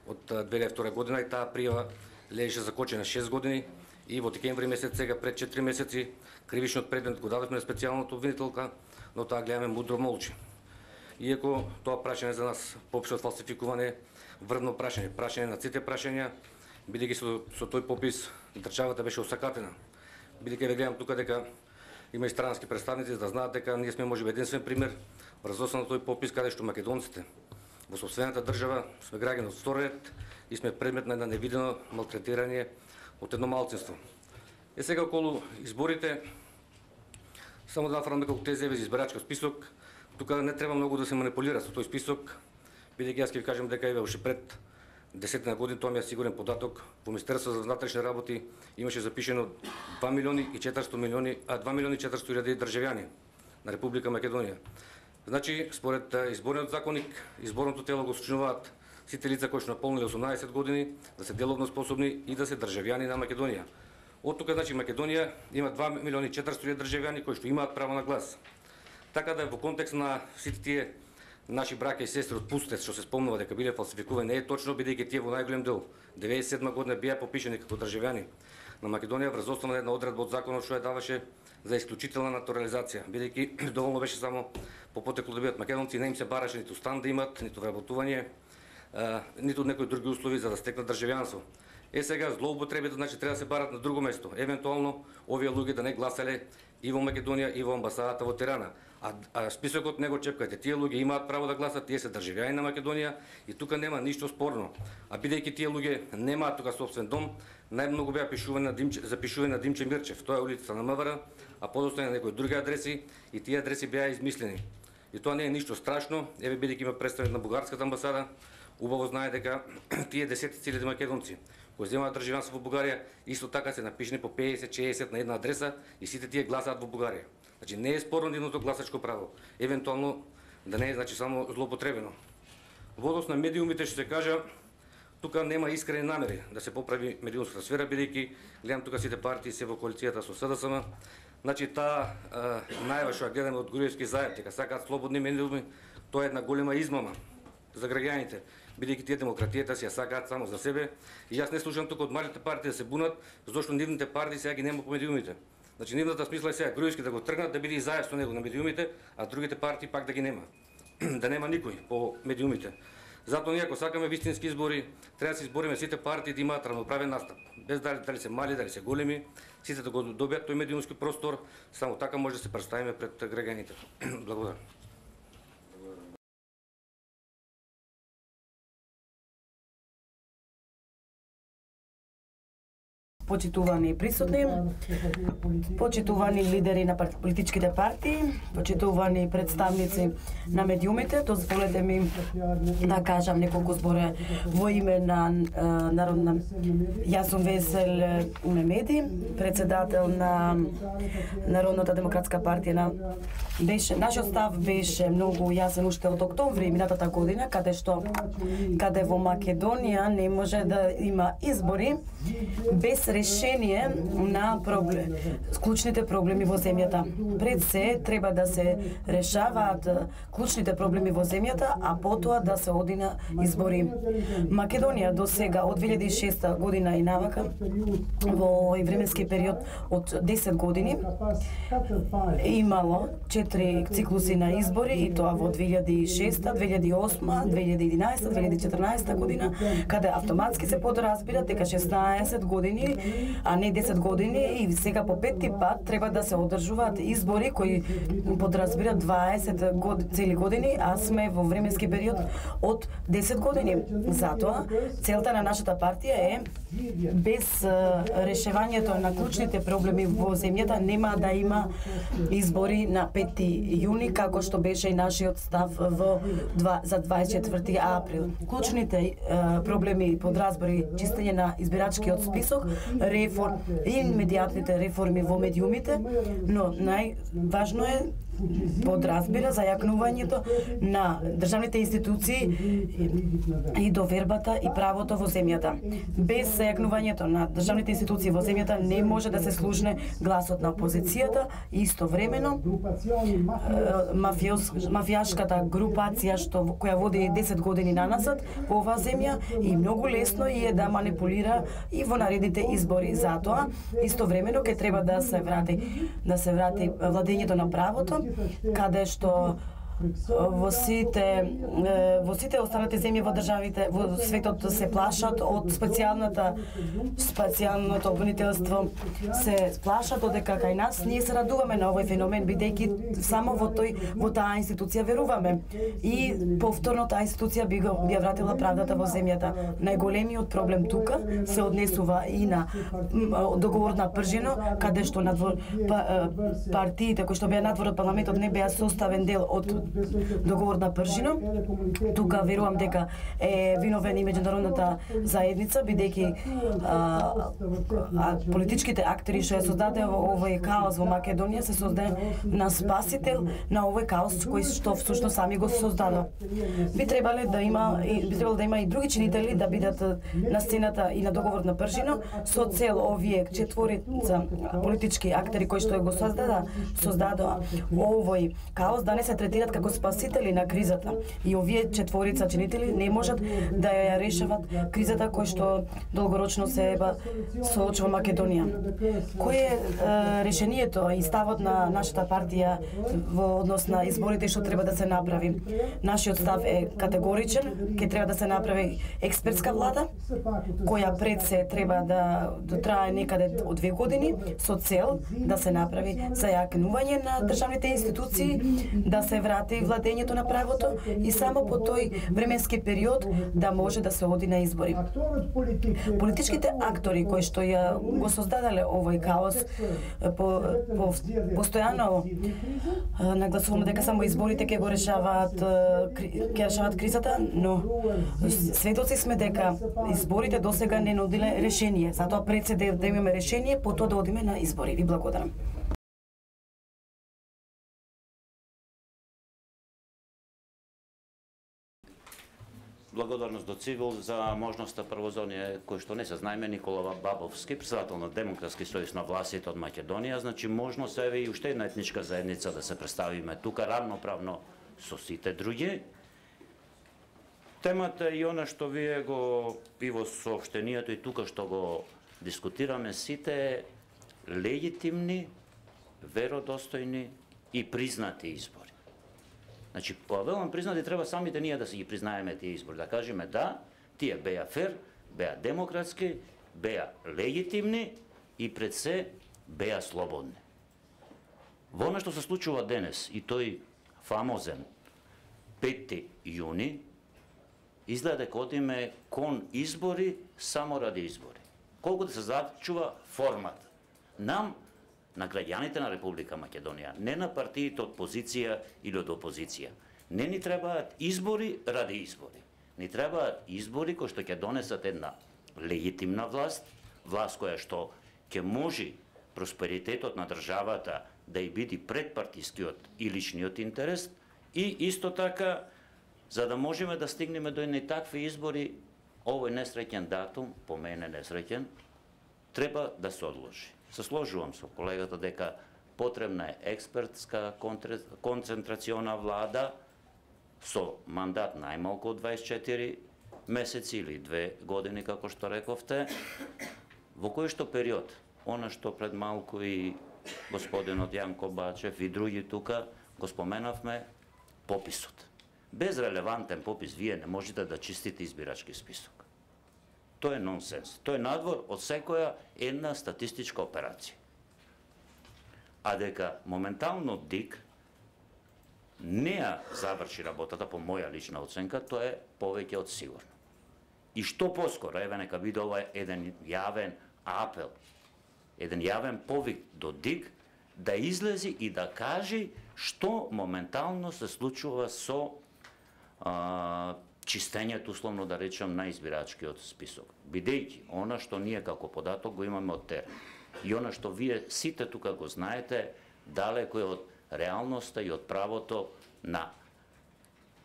од две илјади и втора година и таа пријава лежеше закочена шест години и во декември месец сега пред четири месеци кривичниот предмет го дадовме на специјалната обвинителка, но таа гледаме мудро молчи. Иако тоа прашање за нас пописот фалсификуване врвно прашање, прашање на сите прашања, бидејќи со, со тој попис државата беше осакатена. Бидејќи ве гледам тука дека има и странски представници да знаат дека ние сме можеби единствен пример врз основа на тој попис каде што македонците во сопствената држава сме граѓани од втор ред и сме предмет на едно невидено малтретирање од едно малцинство. Е сега околу изборите, само да нафрлам неколку тези за избирачкиот список. Тука не треба многу да се манипулира со тој список, бидејќи јас ќе ви кажам дека еве уште пред десетина години, тоа ми е сигурен податок, во Министерството за внатрешни работи имаше запишено два милиони и четиристотини милиони, а два милиони и четиристотини илјади државјани на Република Македонија. Значи, според изборниот законник, изборното тело го сочинуваат сите лица кои што наполниле осумнаесет години, да се деловно способни и да се државјани на Македонија. Од тука, значи, Македонија има два милиони и четиристотини илјади државјани кои што имаат право на глас. Така да во контекст на сите тие наши браќа и сестри од Пустец што се спомнува дека биле фалсификувани, не е точно, бидејќи тие во најголем дел деветдесет и седма година беа попишани како државјани на Македонија врз основа на една одредба од законот што ја даваше за исклучителна натурализација, бидејќи доволно беше само по потекло да бидат македонци, не им се бараше ниту стан да имат, ниту вработување, ниту некои други услови за да стекнат државјанство. Е сега злоупотребите, значи треба да се барат на друго место. Евентуално овие луѓе да не гласале и во Македонија и во амбасадата во Тирана. А, а списокот не го чепкате. Тие луѓе имаат право да гласат, тие се државјани на Македонија и тука нема ништо спорно. А бидејќи тие луѓе немаат тука собствен дом, најмногу беа пишувани на Димче, запишувани на Димче Мирчев. Тоа е улицата на МВР, а подоцна на некои други адреси и тие адреси беа измислени. И тоа не е ништо страшно. Еве бидејќи има представник на бугарската амбасада, Убаво знае дека тие десетици илјади македонци кои земаат државјанство во Бугарија исто така се напишани по педесет шеесет на една адреса и сите тие гласаат во Бугарија. Значи не е спорно нивното гласачко право, евентуално да не е значи само злоупотребено. Во однос на медиумите што се кажа, тука нема искрени намери да се поправи медиумската сфера, бидејќи гледам тука сите партии се во коалицијата со СДСМ. Значи таа најава што ја гледаме од Груевски заедно, дека сакаат слободни медиуми, тоа е една голема измама за граѓаните, бидејќи тие демократијата си ја сакаат само за себе. И јас не слушам тука од малите партии да се бунат, зашто нивните партии сега ги нема по медиумите. Значи нивната смисла е сега Груевски да го тргнат, да биде и заедно со него на медиумите, а другите партии пак да ги нема. Да нема никој по медиумите. Затоа ние ако сакаме вистински избори, треба да се избориме сите партии да имаат равноправен настап. Без дали, дали се мали, дали се големи, сите да го добијат тој медиумски простор, само така може да се представиме пред граѓаните. Благодарам. Почитувани присутни, почитувани лидери на политичките партии, почитувани представници на медиумите, дозволете ми да кажам неколку збори во име на Народна... Јас сум Весел Мемеди, председател на Народната демократска партија. На... Беше, нашиот став беше многу јасен уште од октомври минатата година, каде што каде во Македонија не може да има избори без решение на проблем, клучните проблеми во земјата. Пред се треба да се решаваат клучните проблеми во земјата, а потоа да се оди на избори. Македонија до сега од две илјади и шеста година и навака во овој временски период од десет години имало четири циклуси на избори, и тоа во две илјади и шеста, две илјади и осма, две илјади и единаесета, две илјади и четрнаесета година, каде автоматски се подразбира дека шеснаесет години, а не десет години, и сега по петти пат треба да се одржуваат избори кои подразбират дваесет год, цели години, а сме во временски период од десет години. Затоа целта на нашата партија е без решавањето на клучните проблеми во земјата нема да има избори на петти јуни, како што беше и нашиот став во два, за дваесет и четврти април. Клучните е, проблеми подразбори чистење на избирачкиот список, реформ и медијатните реформи во медиумите, но најважно е подразбира за јакнувањето на државните институции и довербата и правото во земјата. Без зајакнувањето на државните институции во земјата не може да се слушне гласот на опозицијата и истовремено мафиоз, мафијашката групација што која води десет години наназад во оваа земја и многу лесно е да манипулира и во наредните избори. Затоа истовремено ќе треба да се врати да се врати владењето на правото, каде што во сите во сите останати земји во државите во светот се плашат од специјалната специјалното обвинителство, се плашат дека кај нас ние се радуваме на овој феномен, бидејќи само во тој во таа институција веруваме и повторно таа институција би го би ја вратила правдата во земјата. Најголемиот проблем тука се однесува и на договор на Пржино, каде што надвор па, партиите кои што беа надвор од парламентот не беа составен дел од договор на Пржино. Тука верувам дека е виновен и меѓународната заедница, бидејќи политичките актери што ја создаде овој каос во Македонија се создаде на спасител на овој каос кој што всушност сами го создадо. Би требале да има би требало да има и други чинители да бидат на сцената и на договор на Пржино со цел овие четворица политички актери кои што го создада создадоа овој каос да не се третираат како спасители на кризата. И овие четворица чинители не можат да ја решават кризата кој што долгорочно се соочува Македонија. Кој е, е решението и ставот на нашата партија во однос на изборите што треба да се направи? Нашиот став е категоричен, ќе треба да се направи експертска влада, која пред се треба да, да трае некаде од две години, со цел да се направи зајакнување на државните институции, да се врати прати владењето на правото и само по тој временски период да може да се оди на избори. Политичките актори кои што ја го создадале овој хаос по, по постојано нагласуваме дека само изборите ќе го решаваат ќе решаваат кризата, но сведоци сме дека изборите досега не нудиле решение. Затоа пред се да имаме решение, потоа да одиме на избори. Ви благодарам. Благодарност до Цивил за можноста прво за оние кои што не се знаеме, Никола Бабовски, председател на Демократски сојуз на властите од Македонија, значи можност еве и уште една етничка заедница да се представиме тука равноправно со сите други. Темата и она што вие го и во соопштението и тука што го дискутираме сите легитимни, веродостојни и признати избори. Значи, кога велам признати, треба самите ние да си ги признаеме тие избори, да кажеме да, тие беа фер, беа демократски, беа легитимни и пред се беа слободни. Во она што се случува денес и тој фамозен петти јуни, изгледа дека одиме кон избори само ради избори. Колку да се зачува формат. Нам, на граѓаните на Република Македонија, не на партиите од позиција или од опозиција. Не ни требаат избори ради избори. Ни требаат избори кои што ќе донесат една легитимна власт, власт која што ќе може просперитетот на државата да и биде пред партискиот и личниот интерес и исто така за да можеме да стигнеме до едни такви избори, овој несреќен датум, по мене несреќен, треба да се одложи. Се сложувам со колегата дека потребна е експертска концентрациона влада со мандат најмалку од дваесет и четири месеци или две години, како што рековте, во кој што период, она што пред малку и господинот Јанко Бачев и други тука го споменавме, пописот. Без релевантен попис вие не можете да чистите избирачки список. Тоа е нонсенс. Тоа е надвор од секоја една статистичка операција. А дека моментално ДИК не ја заврши работата по моја лична оценка, тоа е повеќе од сигурно. И што поскоро, еве нека биде ова еден јавен апел, еден јавен повик до ДИК да излези и да кажи што моментално се случува со а, чистењето, условно да речем, на избирачкиот список. Бидејќи, она што ние како податок го имаме од терен и она што вие сите тука го знаете, далеко е од реалноста и од правото на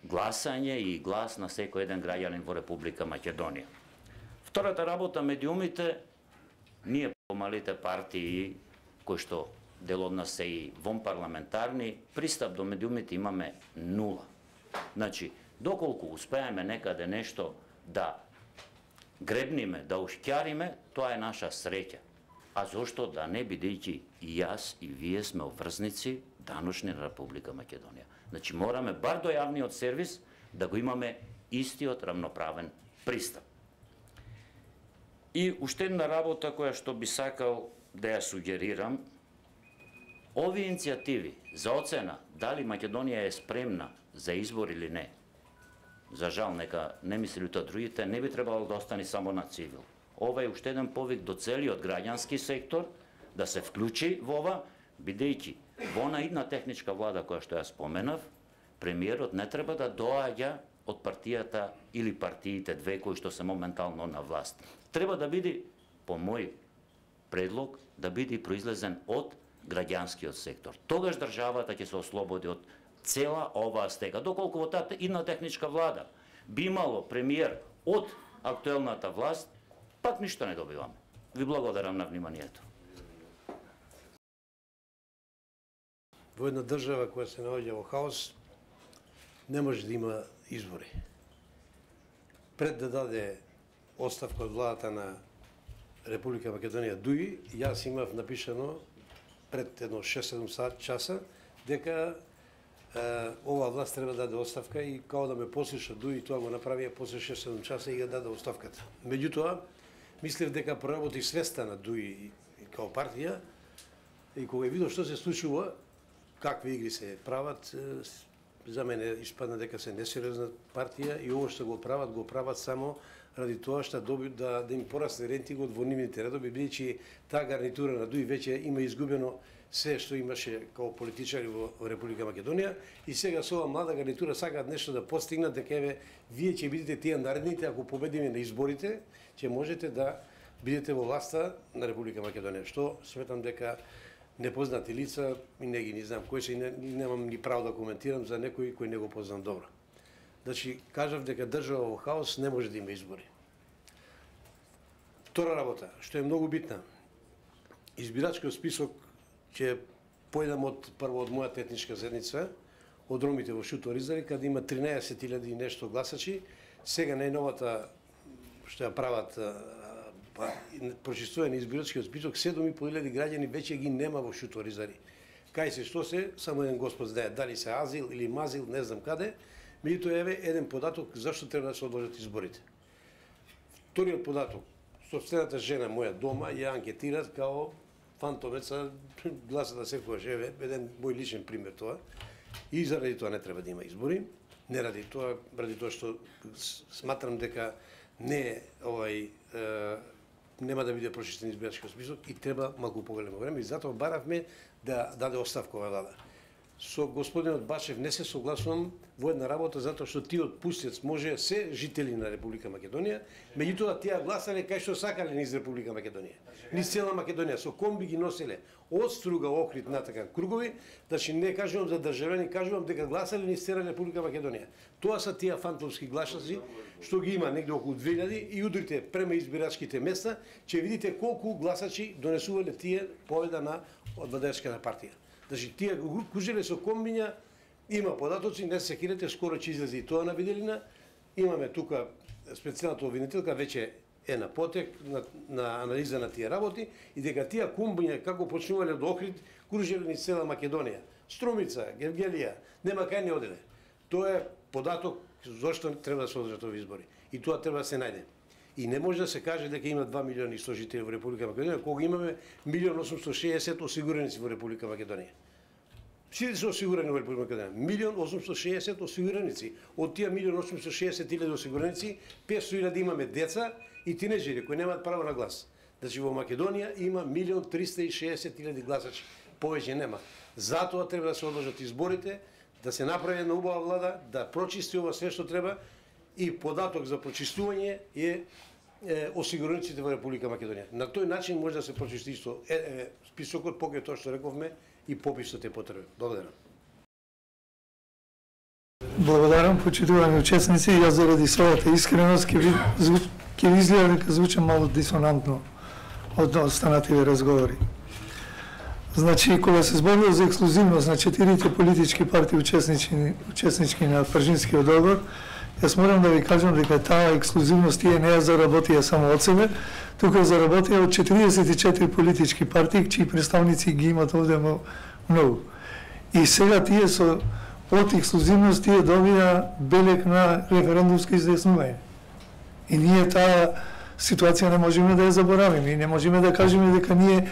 гласање и глас на секој еден граѓанин во Република Македонија. Втората работа, медиумите, ние помалите партии кои што дел од нас се и вонпарламентарни, пристап до медиумите имаме нула. Значи, доколку успееме некаде нешто да гребниме, да ушќариме, тоа е наша среќа. А зошто да не, бидејќи и јас и вие сме обврзници даношни на Република Македонија. Значи мораме бар до јавниот сервис да го имаме истиот равноправен пристап. И уште една работа која што би сакал да ја сугерирам, овие иницијативи за оцена дали Македонија е спремна за избор или не, за жал, нека не мислите другите, не би требало да остане само на цивил. Ова е уште еден повик до целиот граѓански сектор да се вклучи во ова, бидејќи во она идна техничка влада која што ја споменав, премиерот не треба да доаѓа од партијата или партиите две кои што се моментално на власт. Треба да биде, по мој предлог, да биде произлезен од граѓанскиот сектор. Тогаш државата ќе се ослободи од цела оваа стега. Доколку во таа идна техничка влада би имало премиер од актуелната власт, пак ништо не добиваме. Ви благодарам на вниманието. Во една држава која се наоѓа во хаос, не може да има избори. Пред да даде оставка од владата на Република Македонија Дуи, јас имав напишано пред едно шест-седум часа дека е, ова власт треба да даде оставка и као да ме послуша Дуи, тоа го направија после шест-седум часа и ја даде оставката. Меѓутоа, мислев дека проработи свеста на Дуи и као партија и кога видов што се случува, какви игри се прават, за мене испадна дека се несериозна партија и ово што го прават, го прават само ради тоа што доби да да им порасне рейтингот во нивните редови, бидејќи таа гарнитура на Дуи веќе има изгубено се што имаше како политичари во Република Македонија и сега со ова млада гарнитура сакаат нешто да постигнат, дека еве вие ќе бидете тие наредните, ако победиме на изборите, ќе можете да бидете во власта на Република Македонија, што сметам дека непознати лица и не ги не знам кои се и не, немам ни право да коментирам за некој кој не го познам добро. Значи, кажав дека држава во хаос не може да има избори. Втора работа, што е многу битна, избирачкиот список ќе појдам од прво од мојата етничка заедница, од ромите во Шуто-Оризари, каде има тринаесет илјади и нешто гласачи. Сега најновата што ја прават па, прочистување на избирачкиот список, седум и по илјади граѓани веќе ги нема во Шуто-Оризари. Кај се што се, само еден господ знае, дали се Азил или Мазил, не знам каде, меѓутоа еве еден податок зашто треба да се одложат изборите. Вториот податок, сопствената жена моја дома ја анкетират као фантомеца, гласа да секојаш, еве еден мој личен пример тоа. И заради тоа не треба да има избори, не ради тоа, ради тоа што сматрам дека не овај е, нема да биде прочистен избирачкиот список и треба малку поголемо време и затоа баравме да даде оставка ова влада. Со господинот Башев не се согласувам во една работа затоа што тиот пустец може се жители на Република Македонија, меѓутоа тие гласале кај што сакале низ Република Македонија. Низ цела Македонија со комби ги носеле од Струга, Охрид натака кругови, значи не кажувам за државјани, кажувам дека гласале низ цела Република Македонија. Тоа се тие фантомски гласаци што ги има негде околу две илјади и удрите према избирачките места, ќе видите колку гласачи донесувале тие победа на Владеечката партија. Значи тие кужеле со комбиња, има податоци, не се секирате, скоро ќе излезе и тоа на виделина. Имаме тука специјалната обвинителка веќе е на потек на, на анализа на тие работи и дека тие комбиња како почнувале од Охрид, кружеле низ цела Македонија. Струмица, Гевгелија, нема кај не оделе. Тоа е податок зошто треба да се одржат овие избори. И тоа треба да се најде. И не може да се каже дека има два милиони и сто жители во Република Македонија, кога имаме милион осумстотини и шеесет осигуреници во Република Македонија. Сите се осигурени во Република Македонија. милион осумстотини и шеесет осигуреници. Од тие милион осумстотини и шеесет илјади осигуреници, петстотини илјади имаме деца и тинеџери кои немаат право на глас. Значи во Македонија има милион триста и шеесет илјади гласачи. Повеќе нема. Затоа треба да се одложат изборите, да се направи една убава влада, да прочисти ова се што треба и податок за прочистување е, е осигурениците во Република Македонија. На тој начин може да се прочисти исто е, е, списокот, покрај тоа што рековме, и пописот е потребен. Благодарам. Благодарам, почитувани учесници. Јас заради својата искреност ќе ви, ќе ви изгледа дека звучам мало дисонантно од останативе разговори. Значи, кога се зборува за ексклузивност на четирите политички партии учеснички, учеснички на Пржинскиот договор, јас морам да ви кажам дека таа ексклузивност тие не ја заработија само од себе, туку ја заработија од четиридесет и четири политички партии, чии представници ги имат овде многу. И сега тие со од ексклузивност тие добија белег на референдумско изјаснување. И ние таа ситуација не можеме да ја заборавиме и не можеме да кажеме дека ние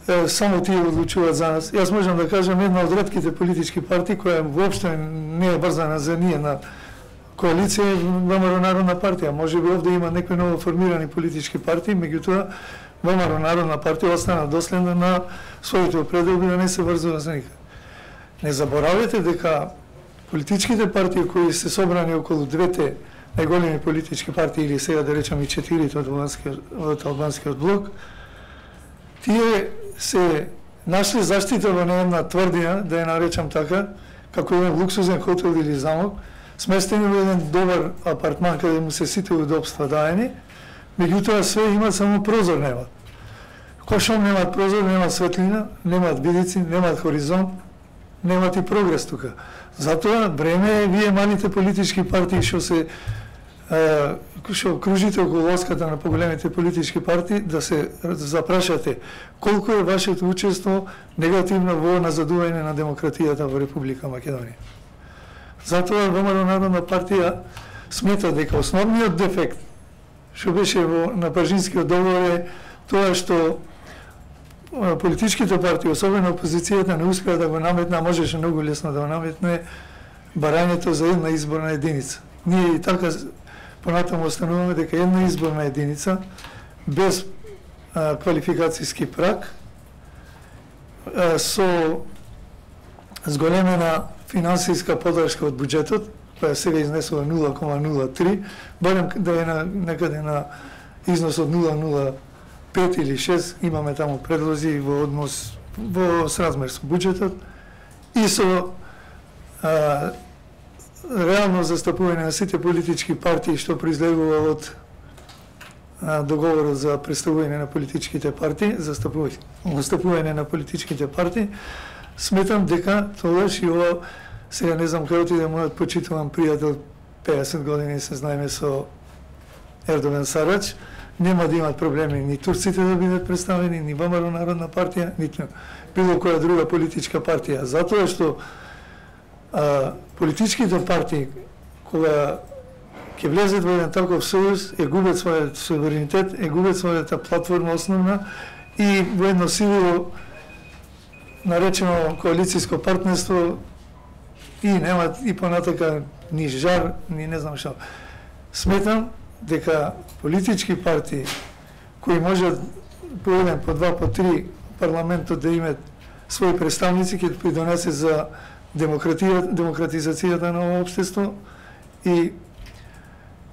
е, само тие одлучуваат за нас. Јас можам да кажам една од ретките политички партии која воопшто не е брзана за ние на коалиција ВМРО Народна партија. Може би овде има некои ново формирани политички партии, меѓутоа ВМРО Народна партија остана доследна на своите определби да не се врзува за никаде. Не заборавете дека политичките партии кои се собрани околу двете најголеми политички партии или сега да речам и четирите од албанскиот, од албанскиот блок, тие се нашли заштита во една тврдина, да ја наречам така, како еден луксузен хотел или замок, сместени во еден добар апартман каде му се сите удобства даени, меѓутоа све имат само прозор немат. Кошом немат прозор, немат светлина, немат видици, немат хоризонт, немат и прогрес тука. Затоа време е вие малите политички партии што се што кружите околу лоската на поголемите политички партии да се запрашате колку е вашето учество негативно во назадување на демократијата во Република Македонија. Затоа ВМРО Народна партија смета дека основниот дефект што беше во на Пржинскиот договор е тоа што политичките партии, особено опозицијата, не успеа да го наметне, а можеше многу лесно да го наметне барањето за една изборна единица. Ние и така понатаму остануваме дека една изборна единица без а, квалификацијски праг а, со зголемена финансиска поддршка од буџетот, која сега изнесува нула кома нула три, барем да е на, некаде на износ од нула кома нула пет или шест, имаме таму предлози во однос во сразмер со буџетот и со а, реално застапување на сите политички партии што произлегува од а, договорот за представување на политичките партии, застапување, застапување на политичките партии. Сметам дека тогаш и ова, сега не знам кај отиде мојот почитуван пријател, пеесет години се знаеме со Ердоган Сарач, нема да имат проблеми ни турците да бидат представени, ни ВМРО Народна партија, ниту било која друга политичка партија. Затоа што а, политичките партии, кога ќе влезат во еден таков сојуз, е губят својот суверенитет, е губят својата платформа основна и во едно силово наречено коалициско партнерство и нема и понатака ни жар, ни не знам што. Сметам дека политички партии кои можат по еден, по два, по три парламентот да имат своји представници ќе придонесе за демократизацијата на овој општество и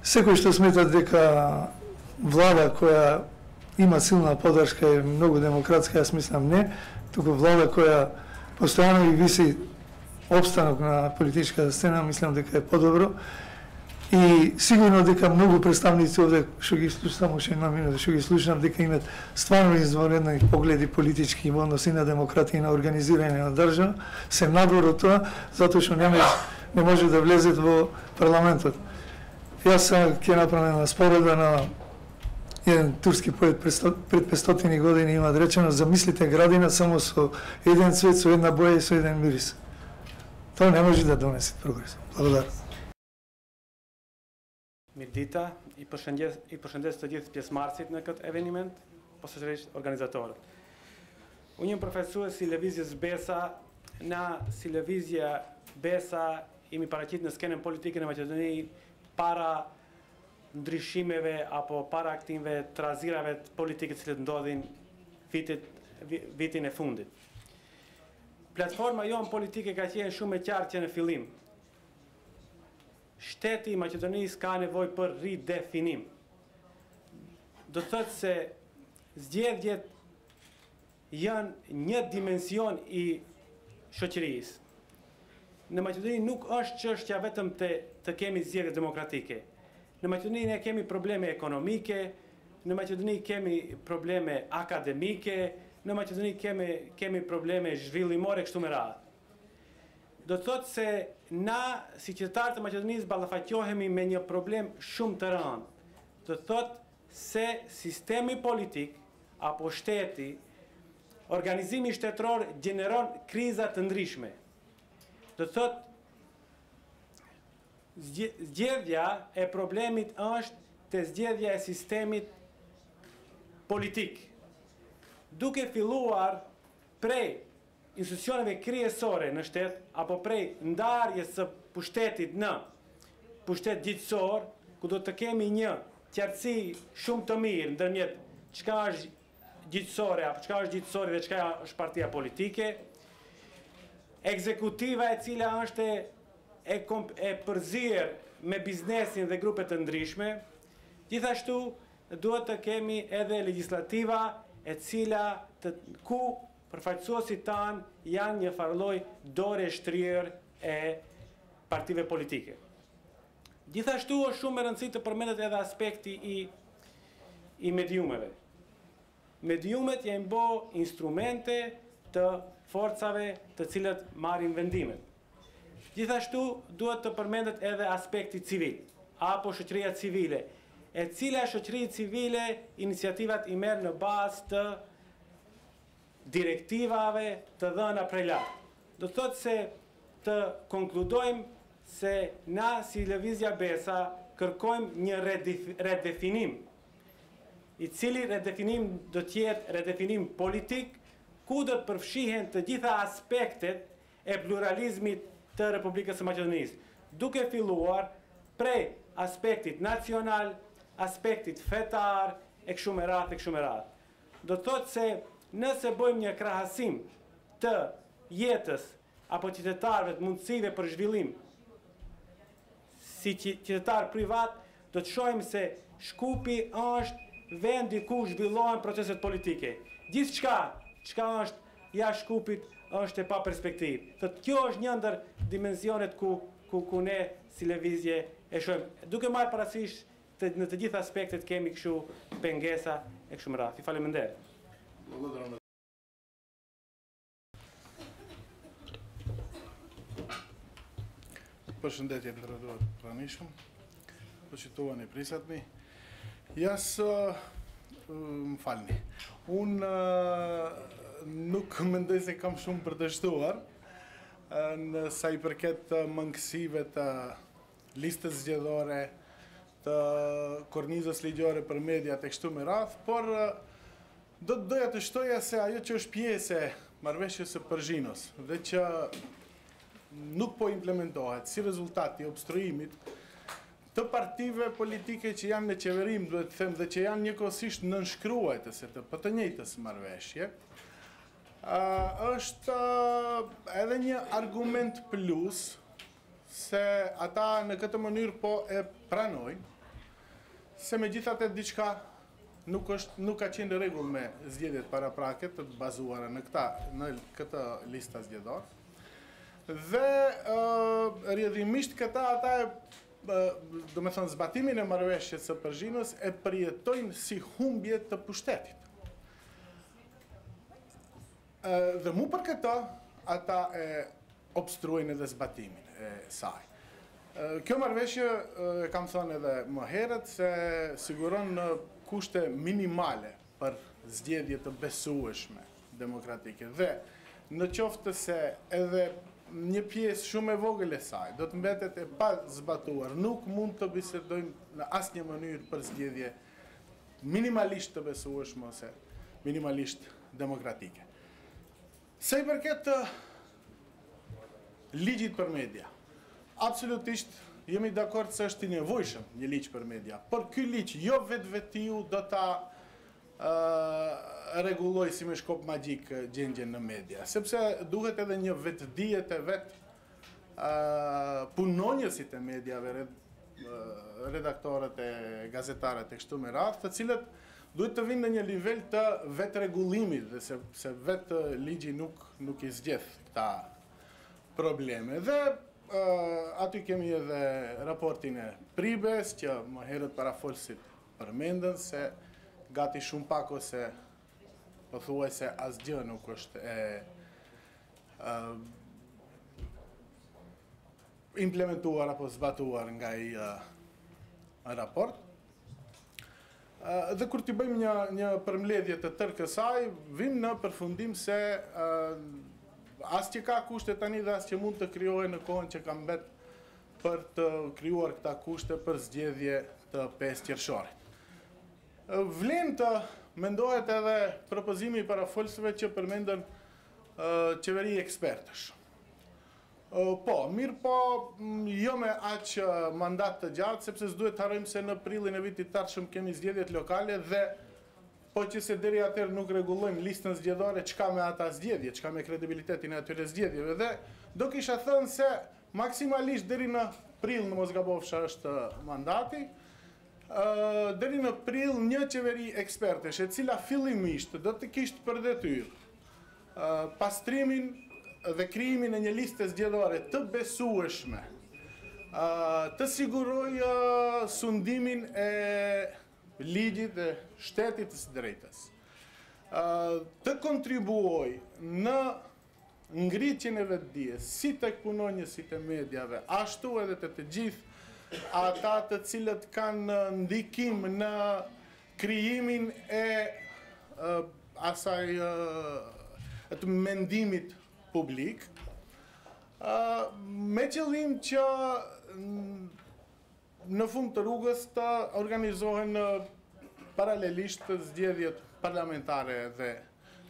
секој што смета дека влада која има силна поддршка е многу демократска, јас мислам не, туку влада која постојано и виси опстанок на политичката сцена, мислам дека е подобро. И сигурно дека многу представници овде што ги слушам, само ше една минута што ги слушам, дека имат стварно извонредни погледи политички во односи на демократија и на организирање на држава, се надвор од тоа, затоа што не, не може да влезет во парламентот. Јас ќе направам една спореда на еден турски поет пред петстотини години има речено: замислите градина само со еден цвет, со една боја и со еден мирис. Тоа не може да донесе прогрес. Благодарам. Мирдита и përshëndes të gjithë pjesëmarrësit në këtë eveniment, posaçërisht organizatorët. Unë jam përfaqësues i lëvizjes Besa, na si lëvizja Besa jemi paraqit në skenën politike në Maqedoni para ndryshimeve apo para aktimeve të razirave të politike të cilët ndodhin vitit vitin e fundit. Platforma jonë politike ka qenë shumë e qartë që në fillim. Shteti i Maqedonisë ka nevojë për ridefinim. Do të thotë se zgjedhjet janë një dimension i shoqërisë. Në Maqedoni nuk është çështja vetëm të, të kemi zgjedhje demokratike. Në Maqedoni ne kemi probleme ekonomike, në Maqedoni kemi probleme akademike, në Maqedoni kemi, kemi probleme zhvillimore kështu me radhë. Do të thotë se na, si qytetarë të Maqedonisë, ballafaqohemi me një problem shumë të rëndë. Do të thotë se sistemi politik apo shteti, organizimi shtetëror gjeneron kriza të ndryshme. Do të thotë zgjedhja e problemit është te zgjedhja e sistemit politik. Duke filluar prej institucioneve kryesore në shtet, apo prej ndarjes së pushtetit në pushtet gjithësor, ku do të kemi një qartësi shumë të mirë ndërmjet çka është gjithësore, apo çka është gjithësore dhe çka është partia politike, ekzekutiva e cila është e, e përzier me biznesin dhe grupe të ndryshme, gjithashtu duhet të kemi edhe legjislativa e cila të, ku përfaqësuesit tanë janë një farloj dore shtrirë e partive politike. Gjithashtu është shumë e rëndësishme të përmendet edhe aspekti i, i mediumeve. Mediumet janë bë instrumente të forcave të cilët marrin vendimet. Gjithashtu duhet të përmendet edhe aspekti civil, apo shoqëria civile, e cila shoqëri civile iniciativat i merr në bazë të direktivave të dhëna prej lart. Do të thotë se të konkludojmë se na si Lëvizja Besa kërkojmë një redefinim, i cili redefinim do të jetë redefinim politik, ku do të përfshihen të gjitha aspektet e pluralizmit të Republikës së Maqedonisë, duke filluar prej aspektit nacional, aspektit fetar, e kështu me radhë, e kështu me radhë. Do të thotë se nëse bëjmë një krahasim të jetës apo qytetarëve të mundësive për zhvillim si qytetar privat, do të shohim se Shkupi është vendi ku zhvillohen proceset politike. Gjithçka, çka është jashtë Shkupit është e pa perspektivë. Thotë kjo është një ndër dimensionet ku ku ku ne si lëvizje e shohim. Duke marrë parasysh të, në të gjitha aspektet kemi kështu pengesa e kështu me radhë. Faleminderit. Përshëndetje të rëduar pranishëm, përqituani prisatni. Jas, më falni, unë nuk mendoj se kam shumë për të shtuar, në sa i përket mangësive të listës zgjedhore, të kornizës ligjore për mediat e kështu me radhë, por do të doja të shtoja se ajo që është pjesë e marrëveshjes së Përzhinos dhe që nuk po implementohet si rezultat i obstruimit të partive politike që janë në qeverim, duhet të them, dhe që janë njëkohësisht nënshkruajtëse të për të njëjtës marrëveshje, është edhe një argument plus se ata në këtë mënyrë po e pranojnë, se megjithatë diçka nuk është nuk ka qenë në rregull me zgjedhjet paraprake të bazuara në këta në këtë listë zgjedhore. Dhe rrjedhimisht këta ata e do me thënë zbatimin e marrëveshjes së Përzhinës e përjetojnë si humbje të pushtetit. Dhe mu për këta ata e obstruojnë edhe zbatimin e saj. Kjo marrëveshje, kam thënë edhe më herët, se siguron në kushte minimale për zgjedhje të besueshme demokratike. Dhe në qoftë se edhe një pjesë shumë e vogël e saj do të mbetet e pa zbatuar, nuk mund të bisedojmë në asnjë mënyrë për zgjedhje minimalisht të besueshme ose minimalisht demokratike. Se i përket ligjit për media, absolutisht jemi dakord se është i nevojshëm një ligj për media, por ky ligj jo vetvetiu do ta rregulloj si me shkop magjik gjendjen në media, sepse duhet edhe një vetdije të vet punonjësit e mediave, redaktorët e gazetarët e kështu me radhë, të cilët duhet të vinë në një nivel të vetrregullimit, dhe se, se vetë ligji nuk nuk i zgjedh këta probleme. Dhe uh, aty kemi edhe raportin e Pribes, që më herët parafolësit përmendën se gati shumë pak ose po thuaj se asgjë nuk është e uh, implementuar apo zbatuar nga i uh, raport. Uh, dhe kur t'i bëjmë një, një përmbledhje të tërë kësaj, vim në përfundim se uh, as që ka kushte tani dhe as që mund të krijohen në kohën që ka mbet për të krijuar këta kushte për zgjedhje të pesë qershorit. Vlen të mendohet edhe propozimi i parafolësve që përmendën uh, qeveri ekspertësh. Uh, po, mirë po, jo me aq mandat të gjatë, sepse s'duhet të harrojmë se në prillin e vitit tashëm kemi zgjedhjet lokale dhe po që se deri atëherë nuk rregullojmë listën zgjedhore, çka me ata zgjedhje, çka me kredibilitetin e atyre zgjedhjeve, dhe do kisha thënë se maksimalisht deri në prill, në mos gabofsha, është mandati. Uh, deri në prill një qeveri ekspertesh, e cila fillimisht do të kishte për detyrë uh, pastrimin dhe krijimin e një liste zgjedhore të besueshme, uh, të siguroj uh, sundimin e ligjit dhe shtetit të së drejtës, uh, të kontribuoj në ngritjen e vetdijes, si tek punonjësit e mediave, ashtu edhe të të gjithë ata të cilët kanë ndikim në krijimin e uh, asaj uh, të mendimit publik, uh, me qëllim që në fund të rrugës të organizohen uh, paralelisht zgjedhjet parlamentare dhe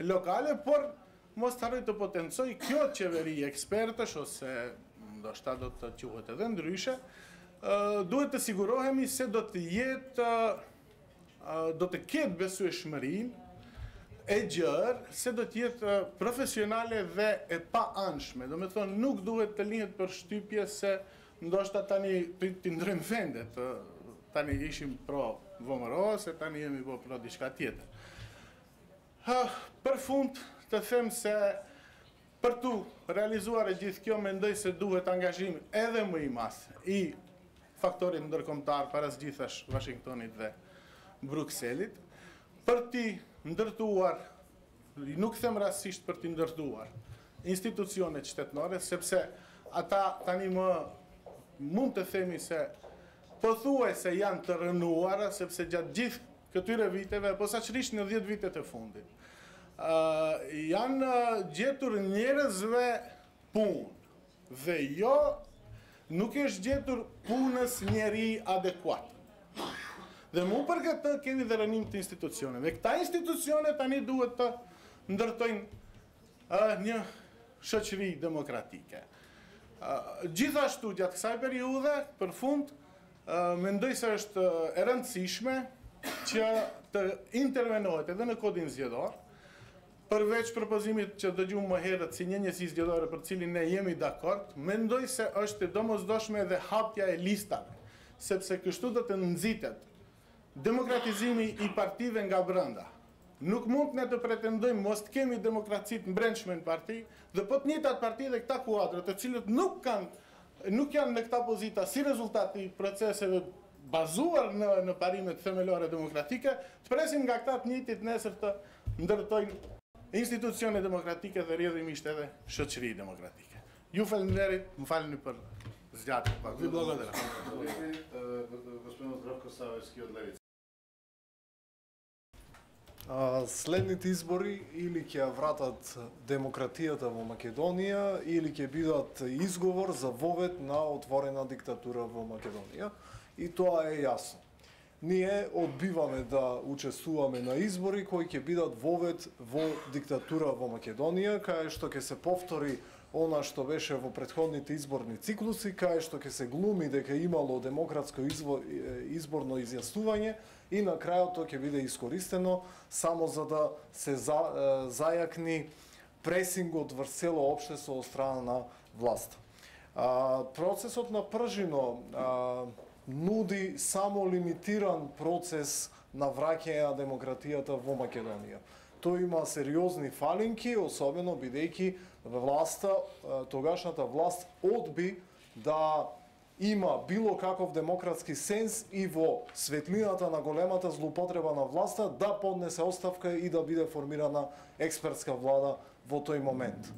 lokale, por mos të harroj të potencoj kjo qeveri ekspertësh ose да šta do čuhate den druše, duhet të sigurohemi se do të jetë do të ketë besueshmërinë e gjerë, se do të jetë profesionale dhe e pa anshme. Do me thonë, nuk duhet të lihet për shtypje se ndoshta tani të ndrojmë vendet, tani ishim pro V M R O, se tani jemi po pro diçka tjetër. Për fund të them se për tu realizuar e gjithë kjo, mendoj se duhet angazhim edhe më i madh i faktorit ndërkombëtar para së gjithash Washingtonit dhe Brukselit, për ti ndërtuar, nuk them rastësisht për ti ndërtuar, institucionet shtetënore, sepse ata tani më mund të themi se pothuajse janë të rënuara, sepse gjatë gjithë këtyre viteve, posaçërisht në dhjetë vitet e fundit, uh, janë gjetur njerëzve punë, dhe jo nuk është gjetur punës njeri adekuat. Dhe mu për këtë kemi dhe rënim të institucioneve. Këta institucione tani duhet të ndërtojnë uh, një shoqëri demokratike. Uh, gjithashtu gjatë kësaj periudhe, për fund, uh, mendoj se është e rëndësishme që të intervenohet edhe në kodin zgjedhor, përveç propozimit që dëgjuam më herët si një njësi zgjedhore për cilin ne jemi dakord, mendoj se është e domosdoshme edhe hapja e listave, sepse kështu do të nxitet demokratizimi i partive nga brenda. Nuk mund ne të pretendojmë mos të kemi demokracit në brendshme në parti, dhe po të njëjtat parti dhe këta kuadrë, të cilët nuk kanë, nuk janë në këta pozita si rezultati i proceseve bazuar në, në parimet themelore demokratike, të presim nga këta të njëjtit nesër të ndërtojnë institucione demokratike dhe rrjedhimisht edhe shoqëri demokratike. Ju falenderit, më falni për zgjatje. Vi благодаря. Господин Здравко Савевски од Левица. Следните избори или ќе вратат демократијата во Македонија, или ќе бидат изговор за вовед на отворена диктатура во Македонија. И тоа е јасно. Ние одбиваме да учествуваме на избори кои ќе бидат вовед во диктатура во Македонија, кај што ќе се повтори она што беше во претходните изборни циклуси, кај што ќе се глуми дека имало демократско изборно изјаснување и на крајот тоа ќе биде искористено само за да се за, зајакни пресингот врз цело општество од страна на власта. А, процесот на Пржино а, нуди само лимитиран процес на враќање на демократијата во Македонија. Тој има сериозни фалинки, особено бидејќи власта, тогашната власт одби да има било каков демократски сенс и во светлината на големата злоупотреба на власта да поднесе оставка и да биде формирана експертска влада во тој момент.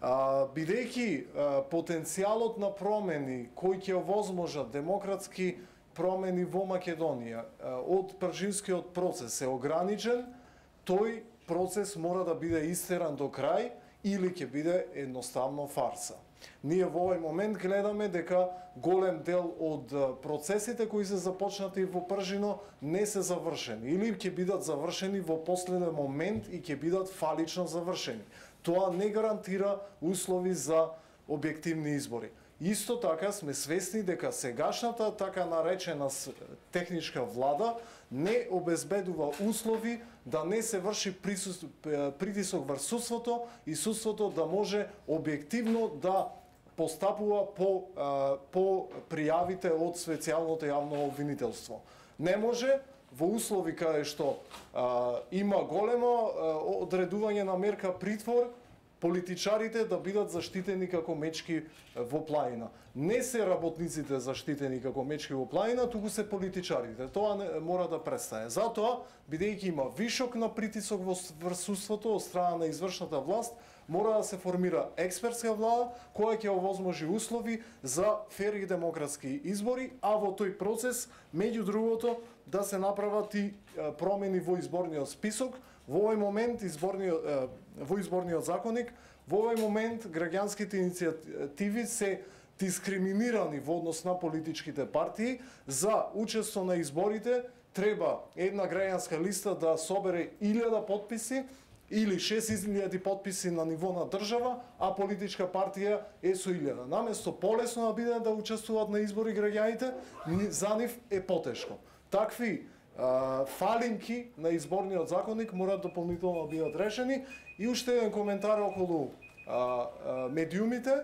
А, бидејќи а, потенцијалот на промени кои ќе овозможат демократски промени во Македонија а, од Пржинскиот процес е ограничен, тој процес мора да биде истеран до крај или ќе биде едноставно фарса. Ние во овој момент гледаме дека голем дел од процесите кои се започнати во Пржино не се завршени или ќе бидат завршени во последен момент и ќе бидат фалично завршени. Тоа не гарантира услови за објективни избори. Исто така сме свесни дека сегашната така наречена техничка влада не обезбедува услови да не се врши притисок врз судството и судството да може објективно да постапува по, по пријавите од специјалното јавно обвинителство. Не може во услови каде што а, има големо а, одредување на мерка притвор, политичарите да бидат заштитени како мечки во планина. Не се работниците заштитени како мечки во планина, туку се политичарите. Тоа не, мора да престане. Затоа, бидејќи има вишок на притисок во судството од страна на извршната власт, мора да се формира експертска влада која ќе овозможи услови за фер и демократски избори, а во тој процес, меѓу другото, да се направат и промени во изборниот список. Во овој момент изборниот, во изборниот законник, во овој момент граѓанските иницијативи се дискриминирани во однос на политичките партии. За учество на изборите треба една граѓанска листа да собере илјада потписи или шест илјади потписи на ниво на држава, а политичка партија е со илјада. Наместо полесно да бидат да учествуваат на избори граѓаните, за нив е потешко. Такви а, фалинки на изборниот законник мораат дополнително да бидат решени. И уште еден коментар околу а, а, медиумите.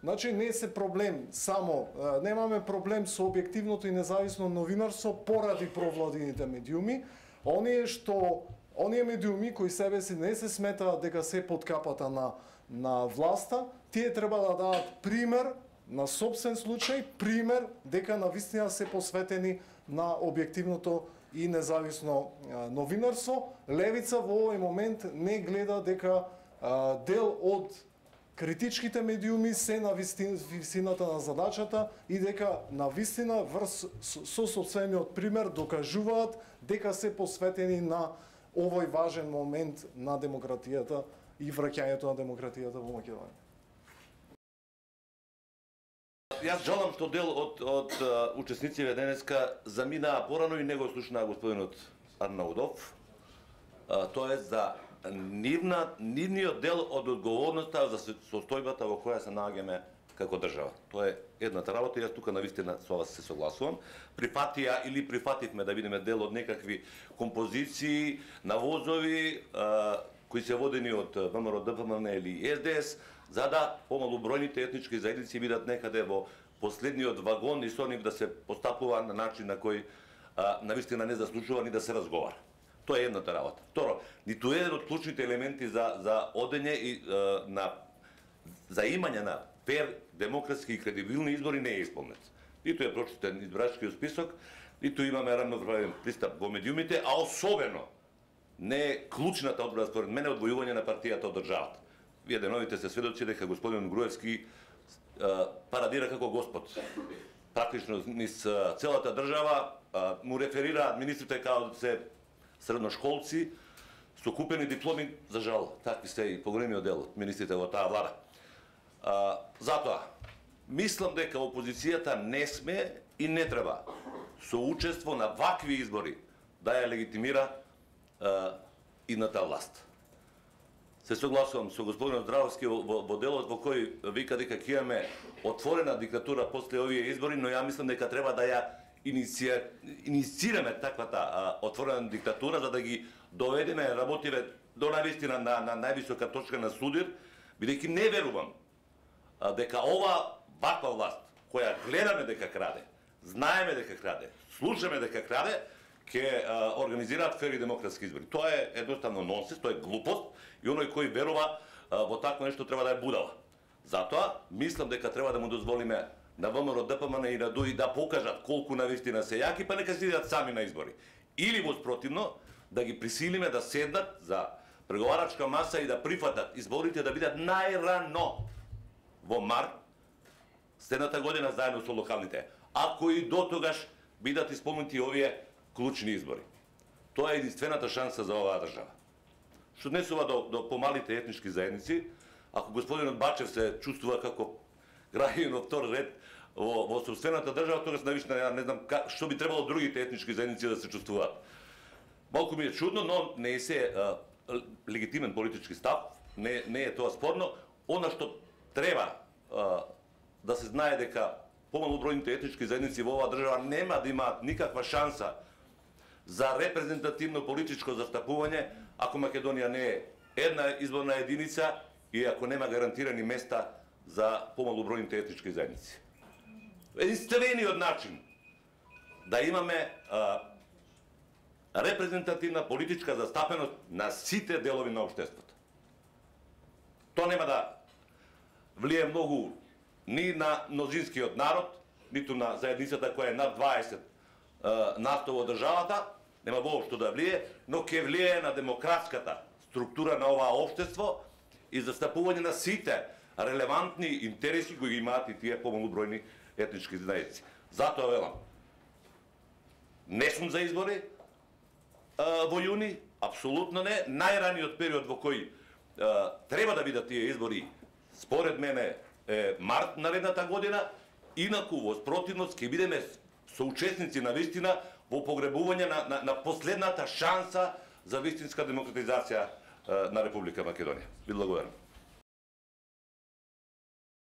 Значи не се проблем само, а, немаме проблем со објективното и независно новинарство поради провладините медиуми. Оние што оние медиуми кои себе си не се сметаат дека се под капата на на власта, тие треба да дадат пример на собствен случај, пример дека навистина се посветени на објективното и независно а, новинарство. Левица во овој момент не гледа дека а, дел од критичките медиуми се на висината на задачата и дека на вистина врз со собствениот пример докажуваат дека се посветени на овој важен момент на демократијата и враќањето на демократијата во Македонија. Јас жалам што дел од од учесниците денеска заминаа порано и не го слушнаа господинот Арнаудов. Тоа е за нивна нивниот дел од одговорноста за состојбата во која се наоѓаме како држава. Тоа е едната работа и јас тука навистина со вас се согласувам. Прифатија или прифативме да бидеме дел од некакви композиции на возови а, кои се водени од ВМРО ДПМН или С Д С, за да помалобројните етнички заедници бидат некаде во последниот вагон и со нив да се постапува на начин на кој а, навистина не заслужува ни да се разговара. Тоа е едната работа. Второ, ниту еден од клучните елементи за за одење и а, на за имање на фер, демократски и кредибилни избори не е исполнет. Ниту е прочитен избирачкиот список, ниту имаме равноправен пристап во медиумите, а особено не е клучната одбрана според мене одвојување на партијата од државата. Вие деновите се сведоци дека господин Груевски а, парадира како господ. Практично низ целата држава а, му реферираат министрите како да се средношколци со купени дипломи, за жал, такви се и поголемиот дел од министрите во таа влада. А, затоа, мислам дека опозицијата не сме и не треба со учество на вакви избори да ја легитимира а, идната власт. Се согласувам со господинот Здравовски во, во, во делот во кој вика дека ќе имаме отворена диктатура после овие избори, но ја мислам дека треба да ја иниција, иницираме таквата а, отворена диктатура за да ги доведеме, работиве до навистина на, на највисока точка на судир, бидејќи не верувам а, дека ова ваква власт, која гледаме дека краде, знаеме дека краде, слушаме дека краде, ќе организираат фери демократски избори. Тоа е едноставно нонсенс, тоа е глупост и оној кој верува а, во такво нешто треба да е будала. Затоа мислам дека треба да му дозволиме на ВМРО ДПМН и на ДУИ да покажат колку навистина се јаки, па нека се идат сами на избори. Или воспротивно да ги присилиме да седнат за преговарачка маса и да прифатат изборите да бидат најрано во март следната година заедно со локалните. Ако и до тогаш бидат исполнети овие клучни избори. Тоа е единствената шанса за оваа држава. Што однесува до, до помалите етнички заедници, ако господинот Бачев се чувствува како граѓанин од втор ред во, во собствената држава, тогаш навистина ја не знам как, што би требало другите етнички заедници да се чувствуваат. Малку ми е чудно, но не е се а, легитимен политички став, не, не е тоа спорно. Она што треба а, да се знае дека помалобројните етнички заедници во оваа држава нема да имаат никаква шанса за репрезентативно политичко застапување ако Македонија не е една изборна единица и ако нема гарантирани места за помалобројните етнички заедници. Единствениот начин да имаме а, репрезентативна политичка застапеност на сите делови на општеството. Тоа нема да влие многу ни на мнозинскиот народ, ниту на заедницата која е над дваесет насто во државата, нема воопшто да влие, но ќе влие на демократската структура на оваа општество и застапување на сите релевантни интереси кои ги имаат и тие помалобројни етнички заедници. Затоа велам, не сум за избори а, во јуни, апсолутно не. Најраниот период во кој а, треба да бидат тие избори, според мене, е март наредната година, инаку во спротивност ќе бидеме соучесници на вистина во погребување на, на, на последната шанса за вистинска демократизација на Република Македонија. Ви благодарам.